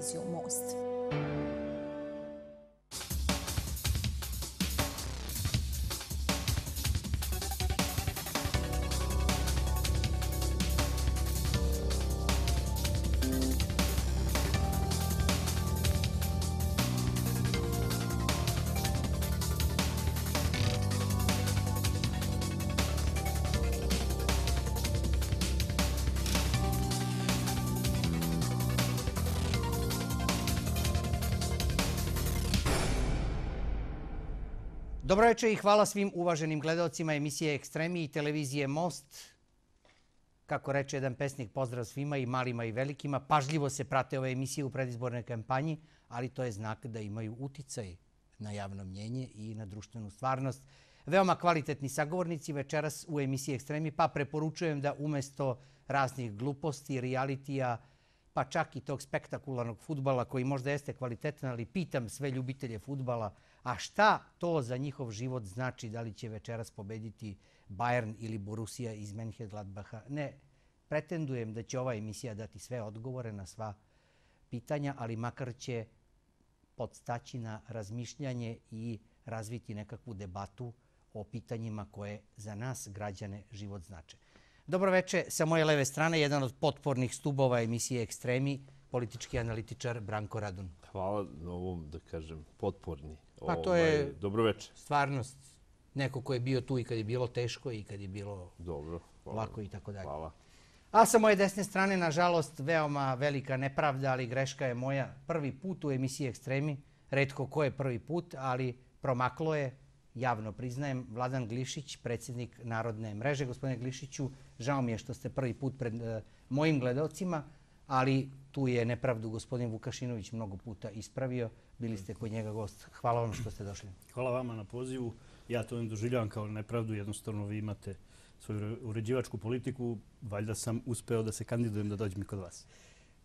televiziju Most. Dobro večer i hvala svim uvaženim gledalcima emisije Ekstremi i televizije Most. Kako reče jedan pesnik, pozdrav svima i malima i velikima. Pažljivo se prate ove emisije u predizbornoj kampanji, ali to je znak da imaju uticaj na javno mnjenje i na društvenu stvarnost. Veoma kvalitetni sagovornici večeras u emisiji Ekstremi, pa preporučujem da umesto raznih gluposti, realitija, pa čak i tog spektakularnog fudbala koji možda jeste kvalitetan, ali pitam sve ljubitelje fudbala, a šta to za njihov život znači, da li će večeras pobediti Bayern ili Borussia iz Mönchengladbacha? Ne pretendujem da će ova emisija dati sve odgovore na sva pitanja, ali makar će podstaći na razmišljanje i razviti nekakvu debatu o pitanjima koje za nas, građane, život znače. Dobro večer, sa moje leve strane, jedan od potpornih stubova emisije Ekstremi, politički analitičar Branko Radun. Hvala na ovom, da kažem, potporni. Pa to je dobro večer. Stvarnost. Neko ko je bio tu i kad je bilo teško i kad je bilo dobro, lako i tako dalje. Hvala. A sa moje desne strane, nažalost, veoma velika nepravda, ali greška je moja. Prvi put u emisiji Ekstremi, retko ko je prvi put, ali promaklo je, javno priznajem, Vladan Glišić, predsjednik Narodne mreže. Gospodine Glišiću, žao mi je što ste prvi put pred mojim gledalcima, ali tu je nepravdu gospodin Vukašinović mnogo puta ispravio. Bili ste kod njega gost. Hvala vam što ste došli. Hvala vama na pozivu. Ja to doživljavam kao nepravdu. Jednostavno vi imate svoju uređivačku politiku. Valjda sam uspeo da se kandidujem da dođem i kod vas.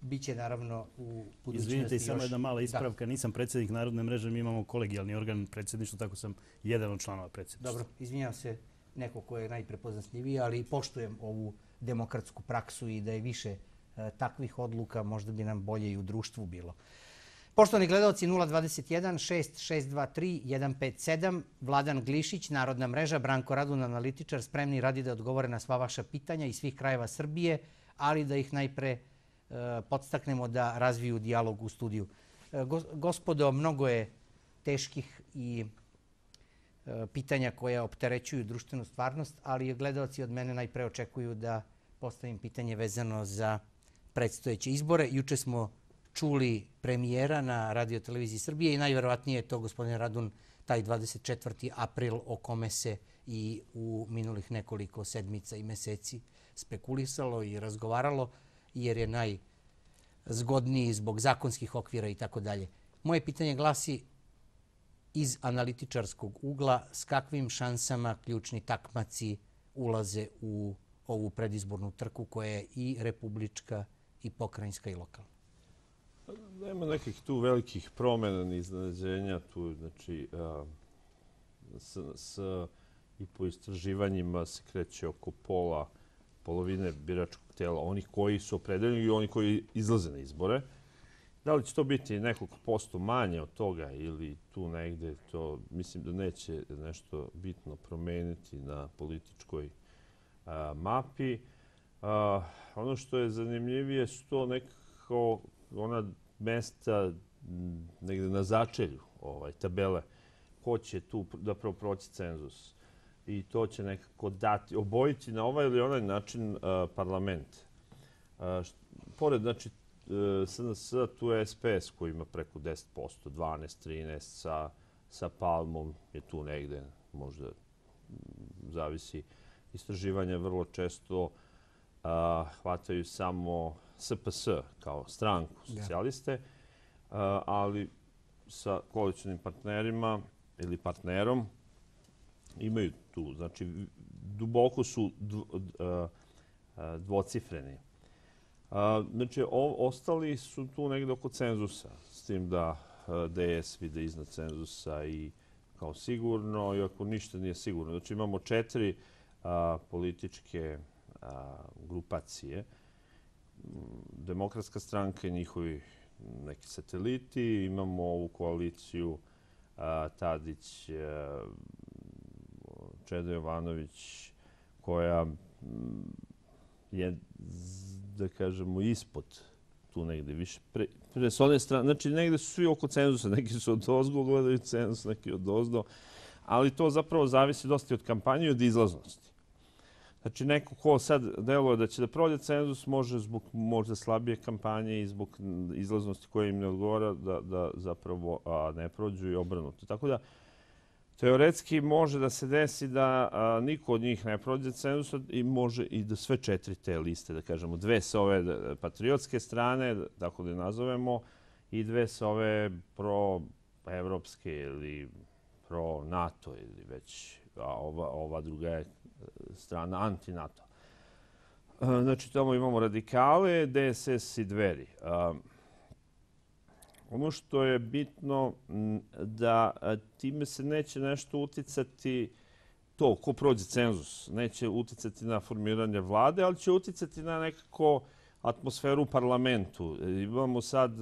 Biće naravno u budućnosti. Izvinite, i samo jedna mala ispravka. Nisam predsjednik Narodne mreže, mi imamo kolegijalni organ predsjedništva, tako sam jedan od članova predsjedništva. Dobro, izvinjam se neko ko je najprepoznatljiviji, ali poštujem ovu demokratsku praksu i da je više takvih odluka, možda bi nam bolje i u društvu bilo. Poštovani gledalci, 021 6623 157, Vladan Glišić, Narodna mreža, Branko Radun, analitičar, spremni radi da odgovore na sva vaša pitanja iz svih krajeva Srbije, ali da ih najpre podstaknemo da razviju dijalog u studiju. Gospodo, mnogo je teških i pitanja koja opterećuju društvenu stvarnost, ali gledalci od mene najpre očekuju da postavim pitanje vezano za predstojeće izbore. Juče smo čuli premijera na Radio-televiziji Srbije i najverovatnije je to, gospodine Radun, taj 24. april o kome se i u minulih nekoliko sedmica i meseci spekulisalo i razgovaralo, jer je najzgodniji zbog zakonskih okvira i tako dalje. Moje pitanje glasi iz analitičarskog ugla, s kakvim šansama ključni takmaci ulaze u ovu predizbornu trku koja je i republička i pokrajinska i lokalna? Nema nekih tu velikih promjena ni iznenađenja. Tu, znači, i po istraživanjima se kreće oko polovine biračkog tela, onih koji su opredeljeni i oni koji izlaze na izbore. Da li će to biti nekoliko posto manje od toga ili tu negde, to mislim da neće nešto bitno promeniti na političkoj mapi. Ono što je zanimljivije su to nekako ona mesta negde na začelju tabele. Ko će tu da proći cenzus? I to će nekako dati, obojiti na ovaj ili onaj način parlament. Pored, znači, SNS, tu je SPS koji ima preko 10%, 12, 13, sa Palmom je tu negde, možda zavisi. Istraživanja vrlo često hvataju samo SPS kao stranku, socijaliste, ali sa koalicionim partnerima ili partnerom imaju tu. Znači, duboko su dvocifreni. Znači, ostali su tu negde oko cenzusa, s tim da DS vide iznad cenzusa i kao sigurno, iako ništa nije sigurno. Znači, imamo 4 političke grupacije. Demokratska stranka i njihovi neki sateliti, imamo ovu koaliciju Tadić, Čeda Jovanović, koja je, da kažemo, ispod tu negde više. S one strane, znači negde su svi oko cenzusa, neki su od ozgo gledaju cenzus, neki od ozdo, ali to zapravo zavisi dosta od kampanje i od izlaznosti. Znači, neko ko sad deluje da će da prođe cenzus, može zbog možda slabije kampanje i zbog izlaznosti koja im ne odgovara da zapravo ne prođu i obrnuto. Tako da, teoretski može da se desi da niko od njih ne prođe cenzus i može i da sve 4 te liste, da kažemo, 2 sa ove patriotske strane, tako da je nazovemo, i 2 sa ove pro-evropske ili pro-NATO ili već, a ova druga je strana anti-NATO. Znači, tamo imamo radikale, DSS i Dveri. Ono što je bitno da time se neće nešto uticati to ko prođe cenzus. Neće uticati na formiranje vlade, ali će uticati na nekako atmosferu u parlamentu. Imamo sad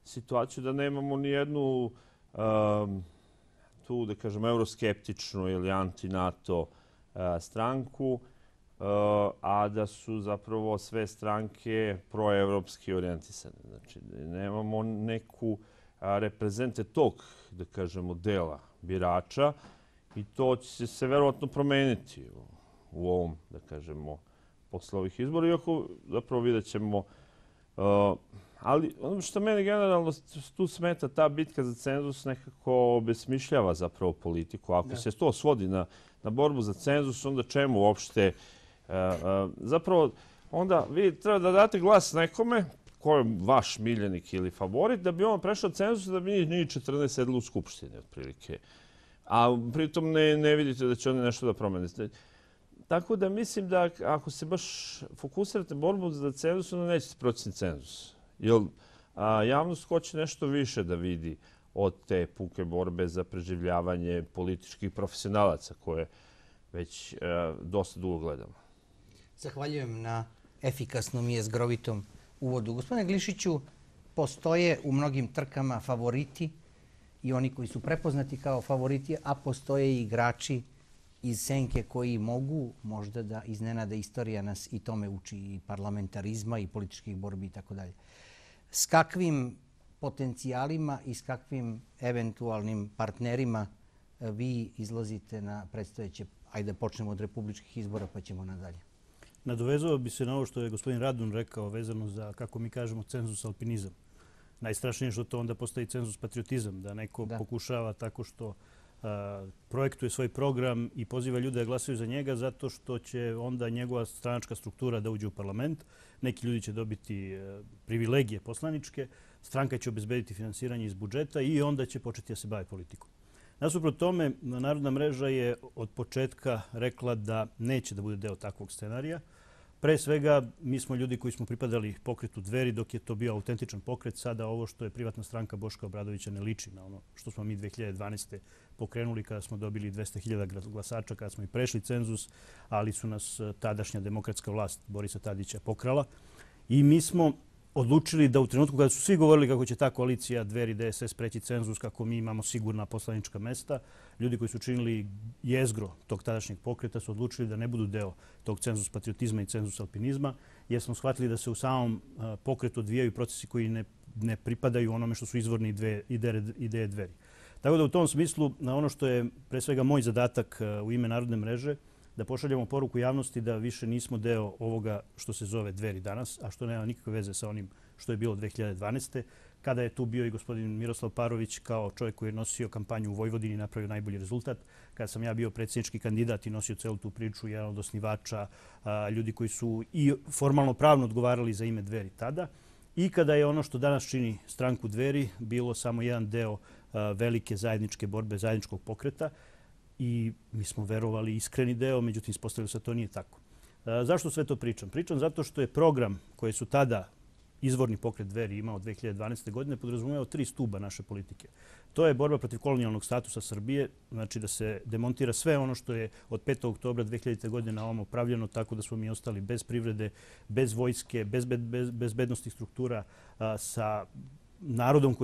situaciju da nemamo ni jednu tu, da kažem, euroskeptičnu ili anti-NATO stranku, a da su zapravo sve stranke proevropski orijentisane. Znači, nemamo neku reprezente tog, da kažemo, dela birača i to će se verovatno promeniti u ovom, da kažemo, posle ovih izbora, iako zapravo vidjet ćemo. Ali ono što mene generalno tu smeta, ta bitka za cenzus nekako obesmišljava zapravo politiku. Ako se to svodi na borbu za cenzus, onda čemu uopšte? Zapravo, onda vi treba da date glas nekome ko je vaš miljenik ili favorit, da bi on prešao cenzus, da bi njih 14 sedli u Skupštini, otprilike. A pritom ne vidite da će oni nešto da promene. Tako da mislim da ako se baš fokusirate borbu za cenzus, onda nećete proći cenzus. Jer javnost hoće nešto više da vidi od te puke borbe za preživljavanje političkih profesionalaca koje već dosta dugo gledamo. Zahvaljujem na efikasnom i jezgrovitom uvodu. Gospodine Glišiću, postoje u mnogim trkama favoriti i oni koji su prepoznati kao favoriti, a postoje i igrači iz senke koji mogu možda da iznenade. Istorija nas i tome uči, i parlamentarizma i političkih borbi i tako dalje. S kakvim potencijalima i s kakvim eventualnim partnerima vi izlazite na predstojeće, ajde počnemo od republičkih izbora pa ćemo nadalje? Nadovezao bi se na ovo što je gospodin Radun rekao vezano za, kako mi kažemo, cenzus alpinizam. Najstrašnije je što to onda postaje cenzus patriotizam, da neko pokušava tako što projektuje svoj program i poziva ljude da glasaju za njega zato što će onda njegova stranačka struktura da uđe u parlament. Neki ljudi će dobiti privilegije poslaničke, stranka će obezbediti finansiranje iz budžeta i onda će početi da se bavi politikom. Nasuprot tome, Narodna mreža je od početka rekla da neće da bude deo takvog scenarija. Pre svega, mi smo ljudi koji smo pripadali pokretu Dveri dok je to bio autentičan pokret. Sada ovo što je privatna stranka Boška Obradovića ne liči na ono što smo mi 2012. pokrenuli kada smo dobili 200.000 glasača, kada smo i prešli cenzus, ali su nas tadašnja demokratska vlast Borisa Tadića pokrala. I mi smo odlučili da u trenutku kada su svi govorili kako će ta koalicija Dveri DSS preći cenzus, kako mi imamo sigurna poslanička mesta, ljudi koji su činili jezgro tog tadašnjeg pokreta su odlučili da ne budu deo tog cenzus patriotizma i cenzus alpinizma, jer smo shvatili da se u samom pokretu odvijaju procesi koji ne pripadaju onome što su izvorni ideje Dveri. Tako da u tom smislu, na ono što je pre svega moj zadatak u ime Narodne mreže, da pošaljemo poruku javnosti da više nismo deo ovoga što se zove Dveri danas, a što nema nikakve veze sa onim što je bilo 2012. Kada je tu bio i gospodin Miroslav Parović kao čovjek koji je nosio kampanju u Vojvodini i napravio najbolji rezultat. Kada sam ja bio predsjednički kandidat i nosio celu tu priču, jedan od osnivača, ljudi koji su i formalno pravno odgovarali za ime Dveri tada. I kada je ono što danas čini stranku Dveri bilo samo jedan deo velike zajedničke borbe, zajedničkog pokreta. I mi smo verovali iskreni deo, međutim ispostavilo se da to nije tako. Zašto sve to pričam? Pričam zato što je program koji su tada izvorni pokret Dveri imao 2012. godine podrazumevao 3 stuba naše politike. To je borba protiv kolonijalnog statusa Srbije, znači da se demontira sve ono što je od 5. oktobra 2000. godine na ovom pravljeno tako da smo mi ostali bez privrede, bez vojske, bez bezbednostnih struktura, sa narodom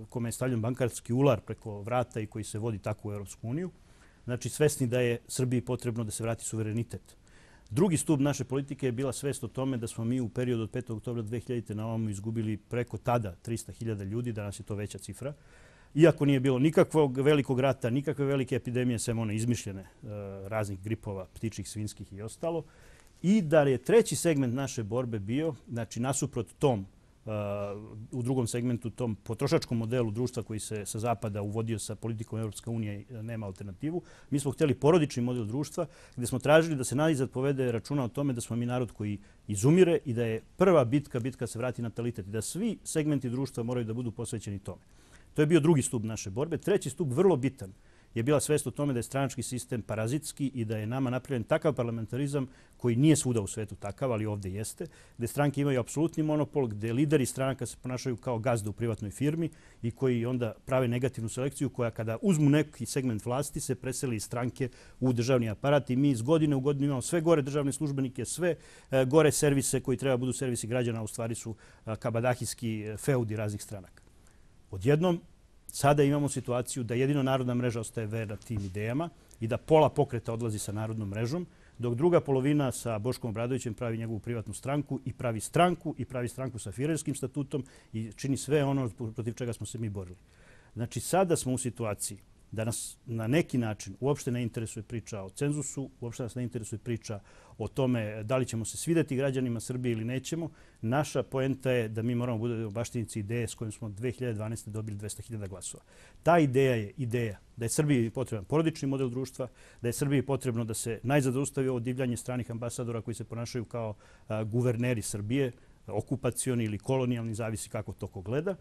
kome je stavljen bankarski ular preko vrata i koji se vodi tako u Europsku uniju. Znači, svesni da je Srbiji potrebno da se vrati suverenitet. Drugi stup naše politike je bila svest o tome da smo mi u periodu od 5. oktobra 2000. na ovamo izgubili preko tada 300.000 ljudi, danas je to veća cifra. Iako nije bilo nikakvog velikog rata, nikakve velike epidemije, sem one izmišljene raznih gripova, ptičih, svinskih i ostalo. I da je treći segment naše borbe bio, znači nasuprot tom, u drugom segmentu, tom potrošačkom modelu društva koji se sa zapada uvodio sa politikom Europska unija i nema alternativu. Mi smo htjeli porodični model društva gdje smo tražili da se najzad povede računa o tome da smo mi narod koji izumire i da je prva bitka se vrati natalitet i da svi segmenti društva moraju da budu posvećeni tome. To je bio drugi stup naše borbe. Treći stup, vrlo bitan, je bila svest o tome da je stranački sistem parazitski i da je nama napravljen takav parlamentarizam koji nije svuda u svetu takav, ali ovdje jeste, gdje stranke imaju apsolutni monopol, gdje lideri stranaka se ponašaju kao gazda u privatnoj firmi i koji onda prave negativnu selekciju koja kada uzmu neki segment vlasti se preseli iz stranke u državni aparat i mi iz godine u godinu imamo sve gore državne službenike, sve gore servise koji treba budu servisi građana, u stvari su kabadahijski feudi raznih stranaka. Odjednom, sada imamo situaciju da jedino Narodna mreža ostaje verna tim idejama i da pola pokreta odlazi sa Narodnom mrežom, dok druga polovina sa Boškom Obradovićem pravi njegovu privatnu stranku i pravi stranku sa Firerskim statutom i čini sve ono protiv čega smo se mi borili. Znači, sada smo u situaciji da nas na neki način uopšte ne interesuje priča o cenzusu, uopšte nas ne interesuje priča o tome da li ćemo se svidjeti građanima Srbije ili nećemo. Naša poenta je da mi moramo budemo baštinici ideje s kojom smo 2012. dobili 200.000 glasova. Ta ideja je ideja da je Srbiji potreban porodični model društva, da je Srbiji potrebno da se najzad zaustavi ovo divljanje stranih ambasadora koji se ponašaju kao guverneri Srbije, okupacioni ili kolonijalni, zavisi kako to ko gleda.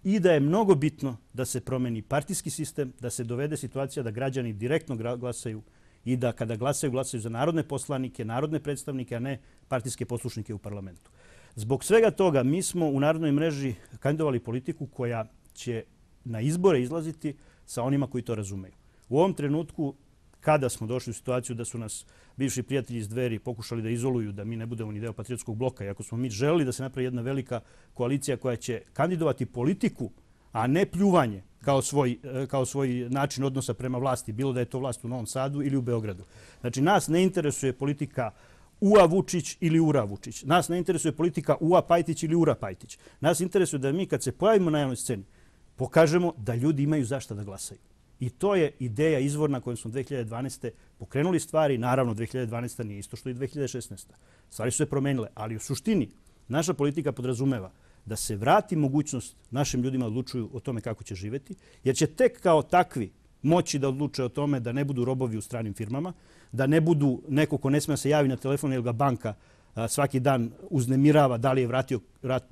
I da je mnogo bitno da se promeni partijski sistem, da se dovede situacija da građani direktno glasaju i da kada glasaju za narodne poslanike, narodne predstavnike, a ne partijske poslušnike u parlamentu. Zbog svega toga mi smo u Narodnoj mreži kandidovali politiku koja će na izbore izlaziti sa onima koji to razumeju. U ovom trenutku, kada smo došli u situaciju da su nas bivši prijatelji iz Dveri pokušali da izoluju, da mi ne budemo ni deo patriotskog bloka, iako smo mi želeli da se napravi jedna velika koalicija koja će kandidovati politiku, a ne pljuvanje kao svoj način odnosa prema vlasti, bilo da je to vlast u Novom Sadu ili u Beogradu. Znači, nas ne interesuje politika Ua Vučić ili Ura Vučić. Nas ne interesuje politika Ua Pajtić ili Ura Pajtić. Nas interesuje da mi kad se pojavimo na javnoj sceni pokažemo da ljudi imaju zašta da glasaju. I to je ideja izvorna kojom smo 2012. pokrenuli stvari. Naravno, 2012. nije isto što i 2016. Stvari su se promenile, ali u suštini naša politika podrazumeva da se vrati mogućnost našim ljudima da odlučuju o tome kako će živjeti, jer će tek kao takvi moći da odluče o tome da ne budu robovi u stranim firmama, da ne budu neko ko ne smije se javi na telefon jer ga banka svaki dan uznemirava da li je vratio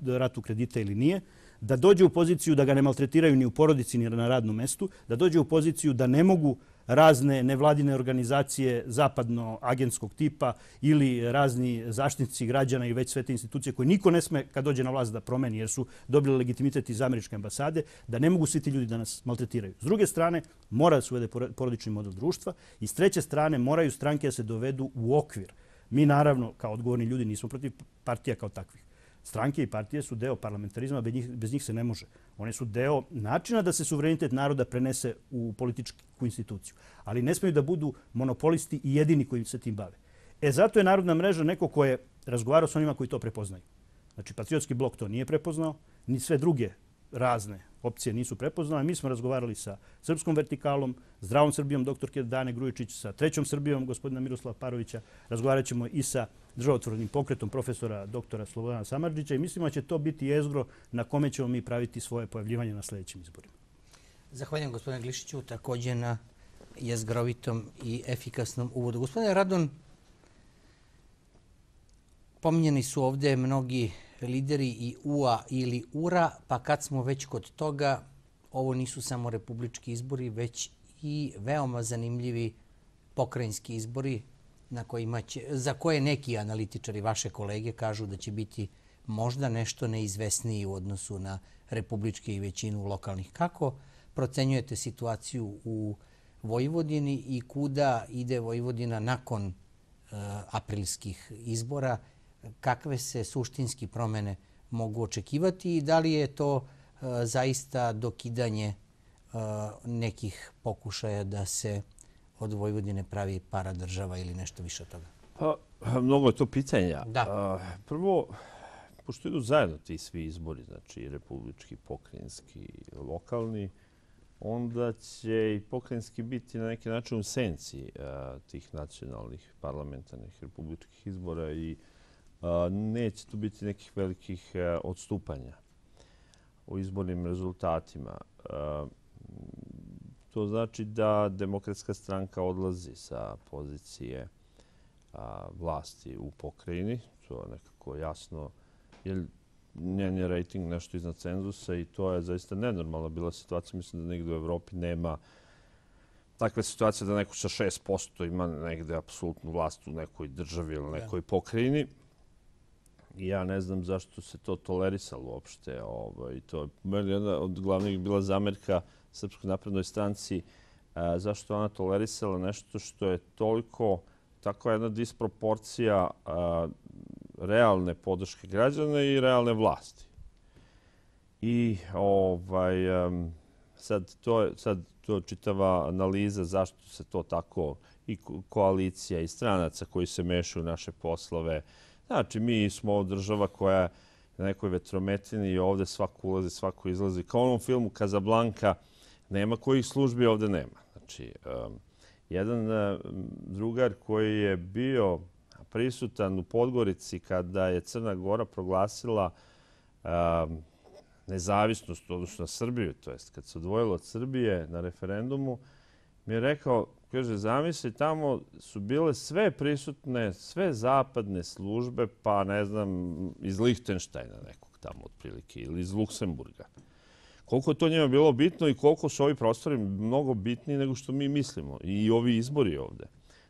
ratu kredita ili nije, da dođe u poziciju da ga ne maltretiraju ni u porodici ni na radnom mestu, da dođe u poziciju da ne mogu razne nevladine organizacije zapadno-agentskog tipa ili razni zaštitnici građana i već sve te institucije koje niko ne sme kad dođe na vlast da promeni jer su dobili legitimitet iz američke ambasade, da ne mogu svi ti ljudi da nas maltretiraju. S druge strane, mora da se uvede porodični model društva i s treće strane moraju stranke da se dovedu u okvir. Mi naravno, kao odgovorni ljudi, nismo protiv partija kao takvih. Stranke i partije su deo parlamentarizma, bez njih se ne može. One su deo načina da se suverenitet naroda prenese u političku instituciju. Ali ne smiju da budu monopolisti i jedini koji se tim bave. Zato je Narodna mreža neko ko je razgovarao s onima koji to prepoznaju. Znači, Patriotski blok to nije prepoznao, ni sve druge razne opcije nisu prepoznale. Mi smo razgovarali sa Srpskom vertikalom, Zdravom Srbijom doktorke Dane Grujičić, sa Trećom Srbijom gospodina Miroslava Parovića. Razgovarat ćemo i sa Državotvornim pokretom profesora doktora Slobodana Samardžića i mislimo da će to biti jezgro na kome ćemo mi praviti svoje pojavljivanje na sljedećim izborima. Zahvaljujem gospodine Glišiću također na jezgrovitom i efikasnom uvodu. Gospodine Radon, pominjeni su ovdje mnogi lideri i UA ili URA, pa kad smo već kod toga, ovo nisu samo republički izbori, već i veoma zanimljivi pokrajinski izbori za koje neki analitičari, vaše kolege, kažu da će biti možda nešto neizvesniji u odnosu na republičke i većinu lokalnih. Kako procenjujete situaciju u Vojvodini i kuda ide Vojvodina nakon aprilskih izbora? Kakve se suštinski promjene mogu očekivati i da li je to zaista dokidanje nekih pokušaja da se od Vojvodine pravi paradržava ili nešto više od toga? Pa, mnogo je to pitanja. Da. Prvo, pošto idu zajedno ti svi izbori, znači republički, pokrajinski, lokalni, onda će i pokrajinski biti na neki način u senci tih nacionalnih, parlamentarnih, republičkih izbora i neće tu biti nekih velikih odstupanja u izbornim rezultatima. To znači da Demokratska stranka odlazi sa pozicije vlasti u pokrajini. To je nekako jasno, jer njen je rejting nešto iznad cenzusa i to je zaista nenormalna bila situacija. Mislim da negdje u Evropi nema takve situacije da neko sa 6% ima negde apsolutnu vlast u nekoj državi ili nekoj pokrajini. I ja ne znam zašto se to tolerisalo uopšte. To je meni jedna od glavnih bila zamerka Srpskoj naprednoj stranci, zašto ona tolerisala nešto što je toliko, tako jedna disproporcija realne podrške građana i realne vlasti. I sad to je čitava analiza zašto se to tako, i koalicija i stranaca koji se mešaju u naše poslove. Znači, mi smo država koja je na nekoj vetrometini i ovde svako ulazi, svako izlazi. Kao u onom filmu Casablanca, nema kojih službi ovde nema. Znači, jedan drugar koji je bio prisutan u Podgorici kada je Crna Gora proglasila nezavisnost odnosno na Srbiju, to jest kad se odvojilo od Srbije na referendumu, mi je rekao, kaže, zamisli, tamo su bile sve prisutne, sve zapadne službe, pa ne znam, iz Lihtenštajna nekog tamo otprilike ili iz Luksemburga. Koliko je to njima bilo bitno i koliko su ovi prostori mnogo bitniji nego što mi mislimo i ovi izbori ovde.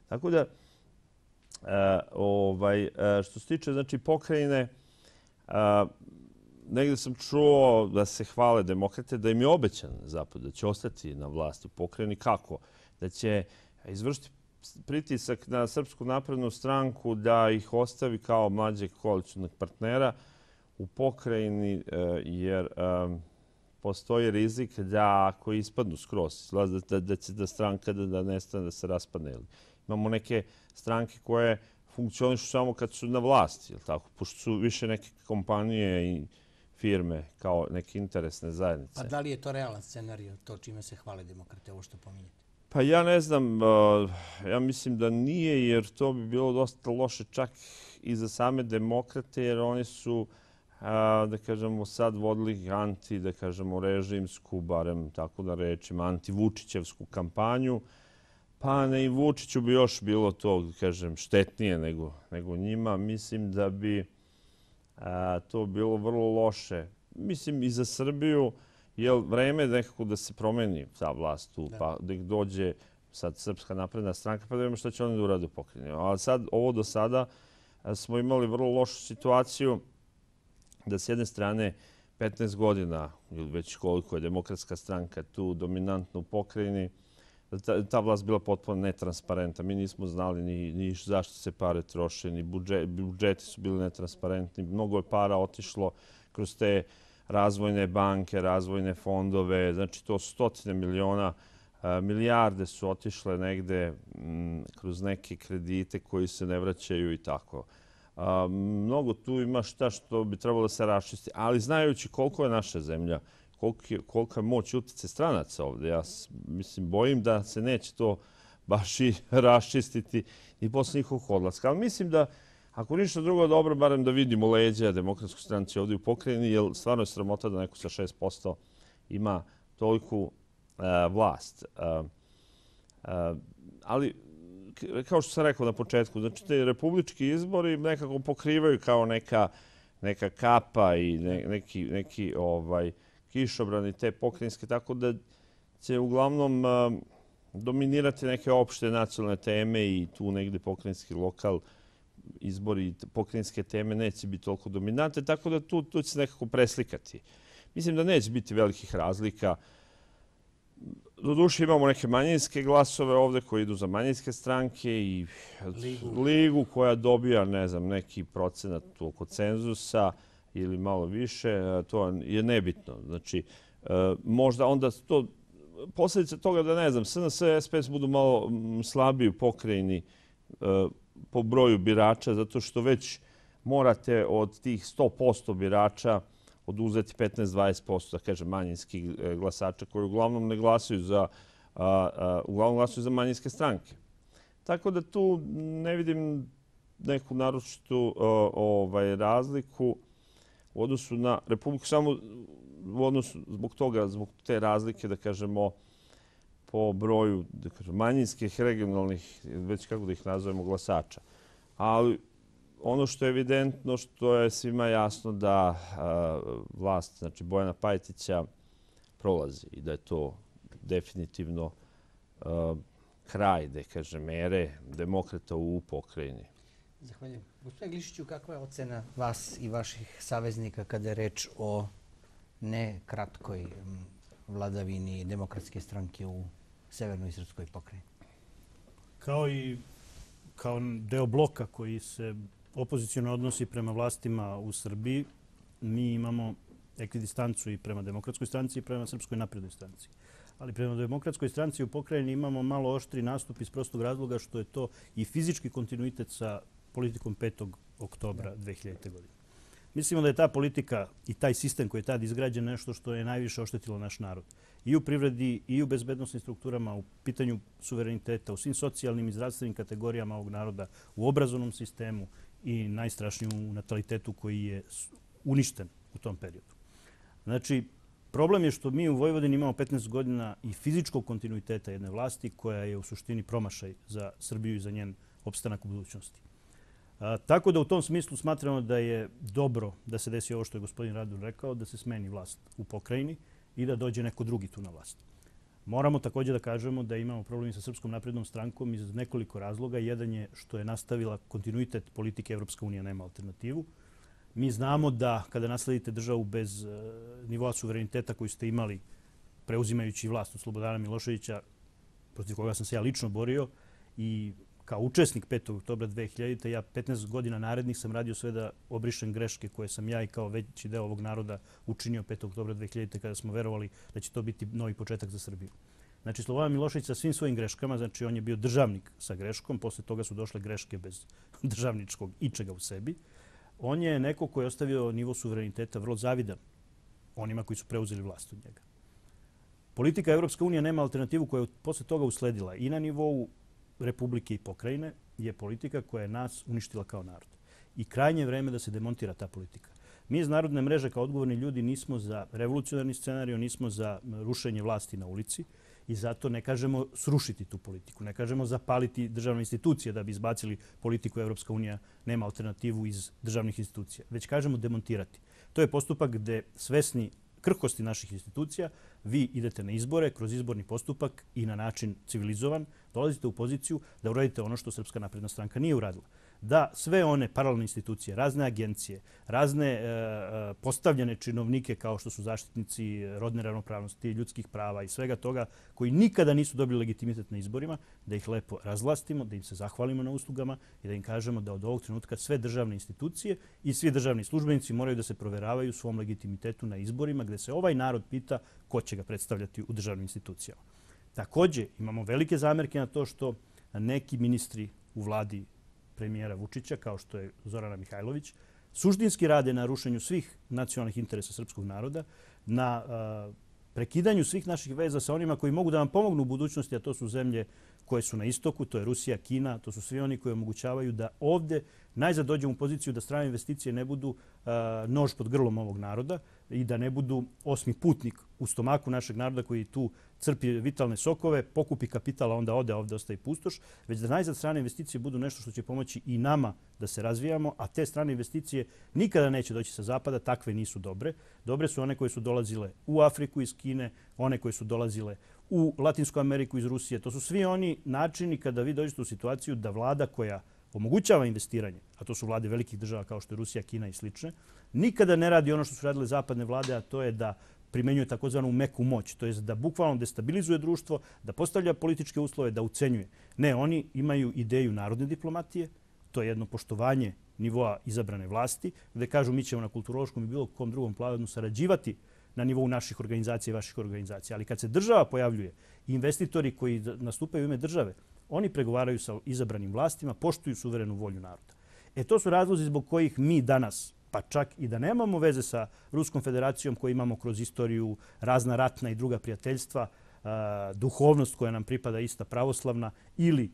Tako da, što se tiče znači, pokrajine, negdje sam čuo da se hvale demokrate, da im je obećan zapad, da će ostati na vlasti u pokrajini. Kako? Da će izvršiti pritisak na Srpsku naprednu stranku da ih ostavi kao mlađeg koalicionog partnera u pokrajini, jer postoji rizik da ako ispadnu skroz, da će da stranka da nestane, da se raspadne. Imamo neke stranke koje funkcionišu samo kad su na vlasti, pošto su više neke kompanije i firme kao neke interesne zajednice. Pa da li je to realan scenarij, to čime se hvale demokrate, ovo što pominjete? Pa ja ne znam, ja mislim da nije, jer to bi bilo dosta loše čak i za same demokrate, jer oni su, da kažemo, sad vodili anti, da kažemo, režimsku, barem tako da rečem, anti-Vučićevsku kampanju. Pa ne i Vučiću bi još bilo to, da kažem, štetnije nego njima. Mislim da bi to bilo vrlo loše. Mislim i za Srbiju, jer vreme je nekako da se promeni ta vlast tu, pa da dođe sad Srpska napredna stranka, pa da vidimo šta će oni da urade u pokrajini. Ali sad, ovo do sada smo imali vrlo lošu situaciju da s jedne strane 15 godina, ili već koliko je Demokratska stranka tu dominantna u pokrajini, ta vlast bila potpuno netransparentna. Mi nismo znali ni zašto se pare troše, ni budžeti su bili netransparentni. Mnogo je para otišlo kroz te razvojne banke, razvojne fondove. Znači, to stotine miliona, milijarde su otišle negde kroz neke kredite koji se ne vraćaju i tako. Mnogo tu ima šta što bi trebalo da se raščisti. Ali znajući koliko je naša zemlja, kolika je moć utjecaj stranaca ovde, ja mislim, bojim da se neće to baš i raščistiti i posle njihovog odlaska. Ali mislim da, ako ništa drugo, dobro, barem da vidimo leđa Demokratskoj stranci ovdje u pokrajini, jer stvarno je sramota da neko sa 6% ima toliku vlast. Ali, kao što sam rekao na početku, znači te republički izbori nekako pokrivaju kao neka kapa i neki kišobrani te pokrajinske, tako da će uglavnom dominirati neke opšte nacionalne teme i tu negde pokrajinski lokal izbori pokrajinske teme neće biti toliko dominante, tako da tu će se nekako preslikati. Mislim da neće biti velikih razlika. Doduše imamo neke manjinske glasove ovde koji idu za manjinske stranke i ligu koja dobija, ne znam, neki procenat oko cenzusa ili malo više, to je nebitno. Znači, možda onda to posljedice toga da, ne znam, SNS i SPS budu malo slabiji u pokrajini po broju birača, zato što već morate od tih 100% birača oduzeti 15-20%, da kažem, manjinskih glasača koji uglavnom ne glasaju uglavnom glasuju za manjinske stranke. Tako da tu ne vidim neku naročitu razliku u odnosu na Republiku, samo u odnosu zbog te razlike, da kažemo, po broju manjinskih, regionalnih, već kako da ih nazovemo, glasača. Ali ono što je evidentno, što je svima jasno da vlast, znači Bojana Pajtića, prolazi i da je to definitivno kraj, da kažem, ere demokrata u pokrajini. Zahvaljujem. Gospodine Glišiću, kakva je ocena vas i vaših saveznika kada je reč o ne kratkoj vladavini demokratske stranke u Severnoj Srpskoj pokrajini? Kao deo bloka koji se opoziciono odnosi prema vlastima u Srbiji, mi imamo ekvidistancu i prema demokratskoj stranci i prema Srpskoj naprednoj stranci. Ali prema demokratskoj stranci u pokrajini imamo malo oštri nastup iz prostog razloga što je to i fizički kontinuitet sa politikom 5. oktobra 2000. godine. Mislimo da je ta politika i taj sistem koji je tad izgrađen nešto što je najviše oštetilo naš narod. I u privredi, i u bezbednosnim strukturama, u pitanju suvereniteta, u svim socijalnim i zdravstvenim kategorijama ovog naroda, u obrazovnom sistemu i najstrašnije u natalitetu koji je uništen u tom periodu. Znači, problem je što mi u Vojvodini imamo 15 godina i fizičkog kontinuiteta jedne vlasti koja je u suštini promašaj za Srbiju i za njen opstanak u budućnosti. Tako da u tom smislu smatramo da je dobro da se desi ovo što je gospodin Radun rekao, da se smeni vlast u pokrajini i da dođe neko drugi tu na vlast. Moramo također da kažemo da imamo problem sa Srpskom naprednom strankom iz nekoliko razloga. Jedan je što je nastavila kontinuitet politike Evropska unija nema alternativu. Mi znamo da kada nasledite državu bez nivoa suvereniteta koju ste imali preuzimajući vlast od Slobodana Miloševića, protiv koga sam se ja lično borio i kao učesnik 5. oktobra 2000. ja 15 godina narednih sam radio sve da obrišem greške koje sam ja i kao veći deo ovog naroda učinio 5. oktobra 2000. kada smo verovali da će to biti novi početak za Srbiju. Znači, Slobodan Milošević sa svim svojim greškama, znači on je bio državnik sa greškom, posle toga su došle greške bez državničkog ičega u sebi. On je neko koji je ostavio nivo suvereniteta vrlo zavidan onima koji su preuzeli vlast od njega. Politika Evropska unija nema alternativu koja je posle toga usledila i na nivou Republike i pokrajine je politika koja je nas uništila kao narod. I krajnje je vreme da se demontira ta politika. Mi iz Narodne mreže kao odgovorni ljudi nismo za revolucionarni scenarij, nismo za rušenje vlasti na ulici i zato ne kažemo srušiti tu politiku. Ne kažemo zapaliti državne institucije da bi izbacili politiku Evropska unija nema alternativu iz državnih institucija. Već kažemo demontirati. To je postupak gde svesni krhkosti naših institucija, vi idete na izbore kroz izborni postupak i na način civilizovan, dolazite u poziciju da uradite ono što Srpska napredna stranka nije uradila. Da sve one paralelne institucije, razne agencije, razne postavljene činovnike kao što su zaštitnici rodne ravnopravnosti, ljudskih prava i svega toga koji nikada nisu dobili legitimitet na izborima, da ih lepo razvlastimo, da im se zahvalimo na uslugama i da im kažemo da od ovog trenutka sve državne institucije i svi državni službenici moraju da se proveravaju svom legitimitetu na izborima gde se ovaj narod pita ko će ga predstavljati u državnim institucijama. Također imamo velike zamerke na to što neki ministri u vladi premijera Vučića, kao što je Zorana Mihajlović, suštinski rade na rušenju svih nacionalnih interesa srpskog naroda, na prekidanju svih naših veza sa onima koji mogu da nam pomognu u budućnosti, a to su zemlje koje su na istoku, to je Rusija, Kina, to su svi oni koji omogućavaju da ovdje najzad dođemo u poziciju da strane investicije ne budu nož pod grlom ovog naroda i da ne budu osmi putnik u stomaku našeg naroda koji tu crpi vitalne sokove, pokupi kapitala, onda ode, a ovdje ostaje pustoš, već da najzad strane investicije budu nešto što će pomoći i nama da se razvijamo, a te strane investicije nikada neće doći sa zapada, takve nisu dobre. Dobre su one koje su dolazile u Afriku iz Kine, one koje su dolazile u Latinsku Ameriku iz Rusije. To su svi oni načini kada vi dođete u situaciju da vlada koja omogućava investiranje, a to su vlade velikih država kao što je Rusija, Kina i slične, nikada ne radi ono što su radile zapadne vlade, a to je da primenjuje takozvanu meku moć, to je da bukvalno destabilizuje društvo, da postavlja političke uslove, da ucenjuje. Ne, oni imaju ideju narodne diplomatije, to jedno poštovanje nivoa izabrane vlasti, gde kažu mi ćemo na kulturološkom i bilo kom drugom planu sarađivati na nivou naših organizacija i vaših organizacija. Ali kad se država pojavljuje i investitori koji nastupaju u ime države, oni pregovaraju sa izabranim vlastima, poštuju suverenu volju naroda. To su razlozi zbog kojih mi danas, pa čak i da nemamo veze sa Ruskom federacijom koju imamo kroz istoriju, razna ratna i druga prijateljstva, duhovnost koja nam pripada ista pravoslavna ili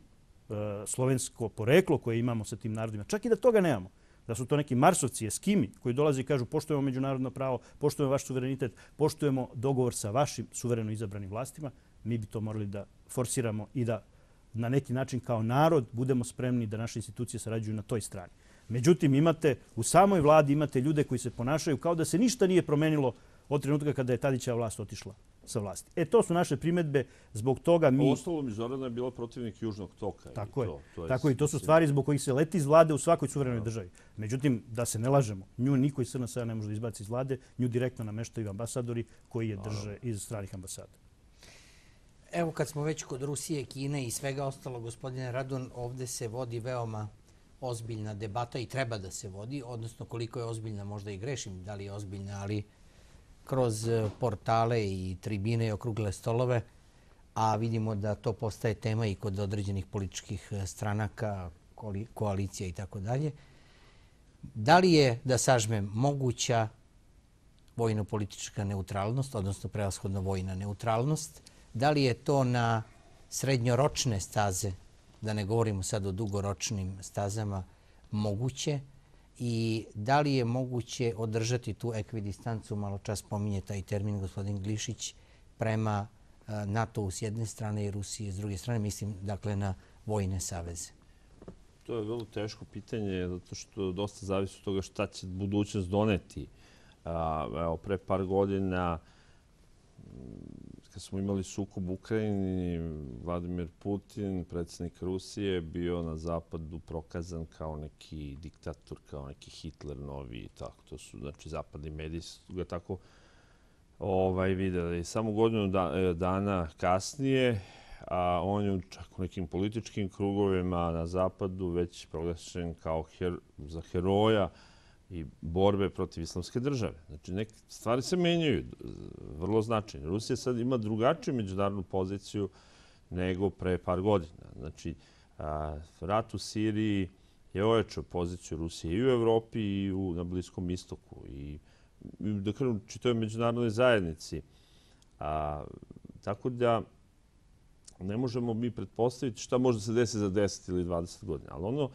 slovensko poreklo koje imamo sa tim narodima. Čak i da toga nemamo. Da su to neki Marsovci, Eskimi koji dolaze i kažu poštujemo međunarodno pravo, poštujemo vaš suverenitet, poštujemo dogovor sa vašim suvereno izabranim vlastima, mi bi to morali da forsiramo i da na neki način kao narod budemo spremni da naše institucije sarađuju na toj strani. Međutim, u samoj vladi imate ljude koji se ponašaju kao da se ništa nije promenilo od trenutka kada je Tadićeva vlast otišla sa vlasti. To su naše primedbe, zbog toga mi... Ostalom, Zorana je bila protivnik Južnog toka. Tako i to su stvari zbog kojih se leti iz vlade u svakoj suverenoj državi. Međutim, da se ne lažemo, nju niko iz SNS-a ne može da izbaci iz vlade, nju direktno nameštaju ambasadori koji je drže iz stranih ambasada. Evo kad smo već kod Rusije, Kine i svega ostalo, gospodine Radun, ovde se vodi veoma ozbiljna debata i treba da se vodi, odnosno koliko je ozbiljna, možda i grešim da li je ozbiljna, ali kroz portale i tribine i okrugle stolove, a vidimo da to postaje tema i kod određenih političkih stranaka, koalicija i tako dalje. Da li je, da sažmem, moguća vojno-politička neutralnost, odnosno prevashodno vojna neutralnost? Da li je to na srednjoročne staze, da ne govorimo sad o dugoročnim stazama, moguće? I da li je moguće održati tu ekvidistancu, malo čas pominje taj termin gospodin Glišić, prema NATO-u s jedne strane i Rusije s druge strane, mislim dakle na vojne saveze? To je vrlo teško pitanje, zato što dosta zavisi od toga šta će budućnost doneti. Evo, pre par godina, kad smo imali sukob u Ukrajini, Vladimir Putin, predsjednik Rusije, bio na zapadu prokazan kao neki diktator, kao neki Hitler novi i tako. To su, znači, zapadni mediji su ga tako videli. Samo godinu dana kasnije, a on je čak u nekim političkim krugovima na zapadu već proglašen kao za heroja i borbe protiv islamske države. Znači, neke stvari se menjaju, vrlo značajno. Rusija sad ima drugačiju međunarodnu poziciju nego pre par godina. Znači, rat u Siriji je ojačao poziciju Rusije i u Evropi i na Bliskom istoku. I da kažem, čitavoj međunarodnoj zajednici. Tako da ne možemo mi pretpostaviti šta može da se desi za 10 ili 20 godina. Ali ono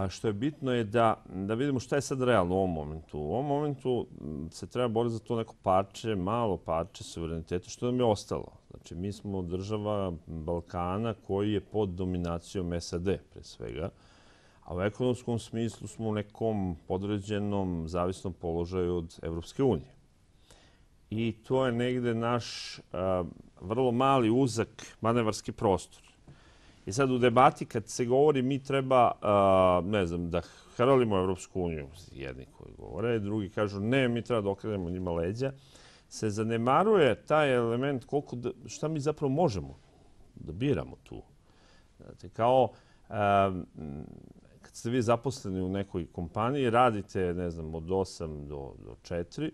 što je bitno je da vidimo šta je sad realno u ovom momentu. U ovom momentu se treba boriti za to neko parče, malo parče suvereniteta, što nam je ostalo. Znači, mi smo država Balkana koji je pod dominacijom SAD, pre svega. A u ekonomskom smislu smo u nekom podređenom, zavisnom položaju od Evropske unije. I to je negde naš vrlo mali, uzak manevarski prostor. I sad u debati kad se govori mi treba, ne znam, da hralimo Evropsku uniju, jedni koji govore, drugi kažu ne, mi treba da okrenemo njima leđa, se zanemaruje taj element šta mi zapravo možemo da biramo tu. Znate, kao kad ste vi zaposleni u nekoj kompaniji, radite, ne znam, od 8 do 4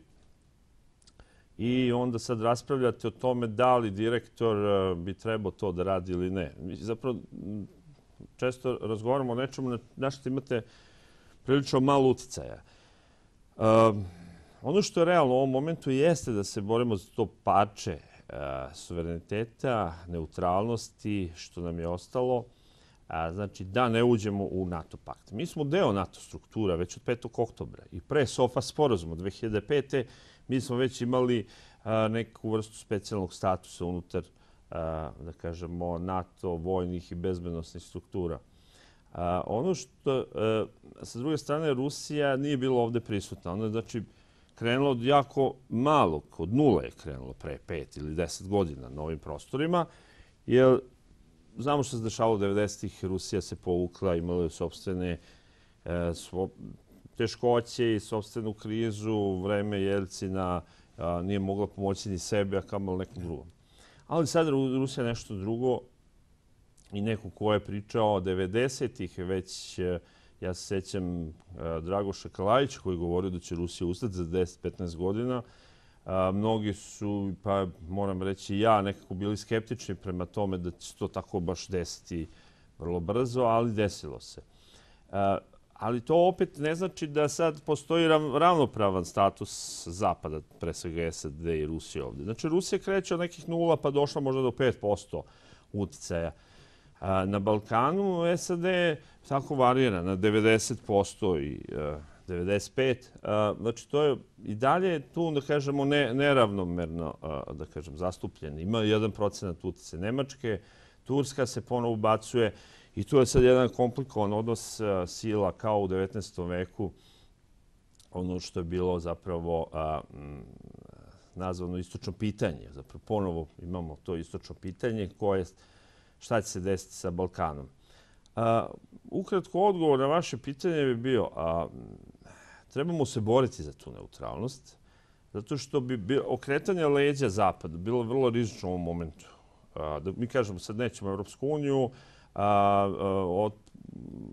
i onda sad raspravljate o tome da li direktor bi trebao to da radi ili ne. Mi zapravo često razgovaramo o nečemu na što imate prilično malo uticaja. Ono što je realno u ovom momentu jeste da se borimo za to parče suvereniteta, neutralnosti, što nam je ostalo. Znači, da ne uđemo u NATO pakt. Mi smo deo NATO struktura već od 5. oktobra i pre SOFA sporazuma 2005. mi smo već imali neku vrstu specijalnog statusa unutar, da kažemo, NATO vojnih i bezbednosnih struktura. Ono što, sa druge strane, Rusija nije bila ovde prisutna. Ona je, znači, krenula od jako malog, od nule je krenulo pre 5 ili 10 godina na ovim prostorima, jer znamo što se dešavalo u 90-ih, Rusija se povukla, imala je sopstvene teškoće i sopstvenu krizu, u vreme Jelcina nije mogla pomoći ni sebe, a kamalo nekom drugom. Ali sad Rusija nešto drugo i neko ko je pričao 90-ih, već ja se sjećam Dragoša Kalajića koji je govorio da će Rusija ustati za 10-15 godina. Mnogi su, pa moram reći ja, nekako bili skeptični prema tome da će to tako baš desiti vrlo brzo, ali desilo se. Ali to opet ne znači da sad postoji ravnopravan status Zapada, pre svega SAD i Rusije ovdje. Znači, Rusija kreće od nekih 0 pa došla možda do 5% uticaja. Na Balkanu SAD tako varira na 90% i 95%. Znači, to je i dalje tu, da kažemo, neravnomerno da kažem, zastupljen. Ima 1% uticaja Nemačke, Turska se ponovo ubacuje i tu je sad jedan komplikovan odnos sila kao u 19. veku, ono što je bilo zapravo nazvano istočno pitanje. Zapravo ponovo imamo to istočno pitanje koje šta će se desiti sa Balkanom. Ukratko odgovor na vaše pitanje bi bio trebamo se boriti za tu neutralnost, zato što bi okretanje leđa Zapada bilo vrlo rizično u ovom momentu. Mi kažemo sad nećemo Evropsku uniju,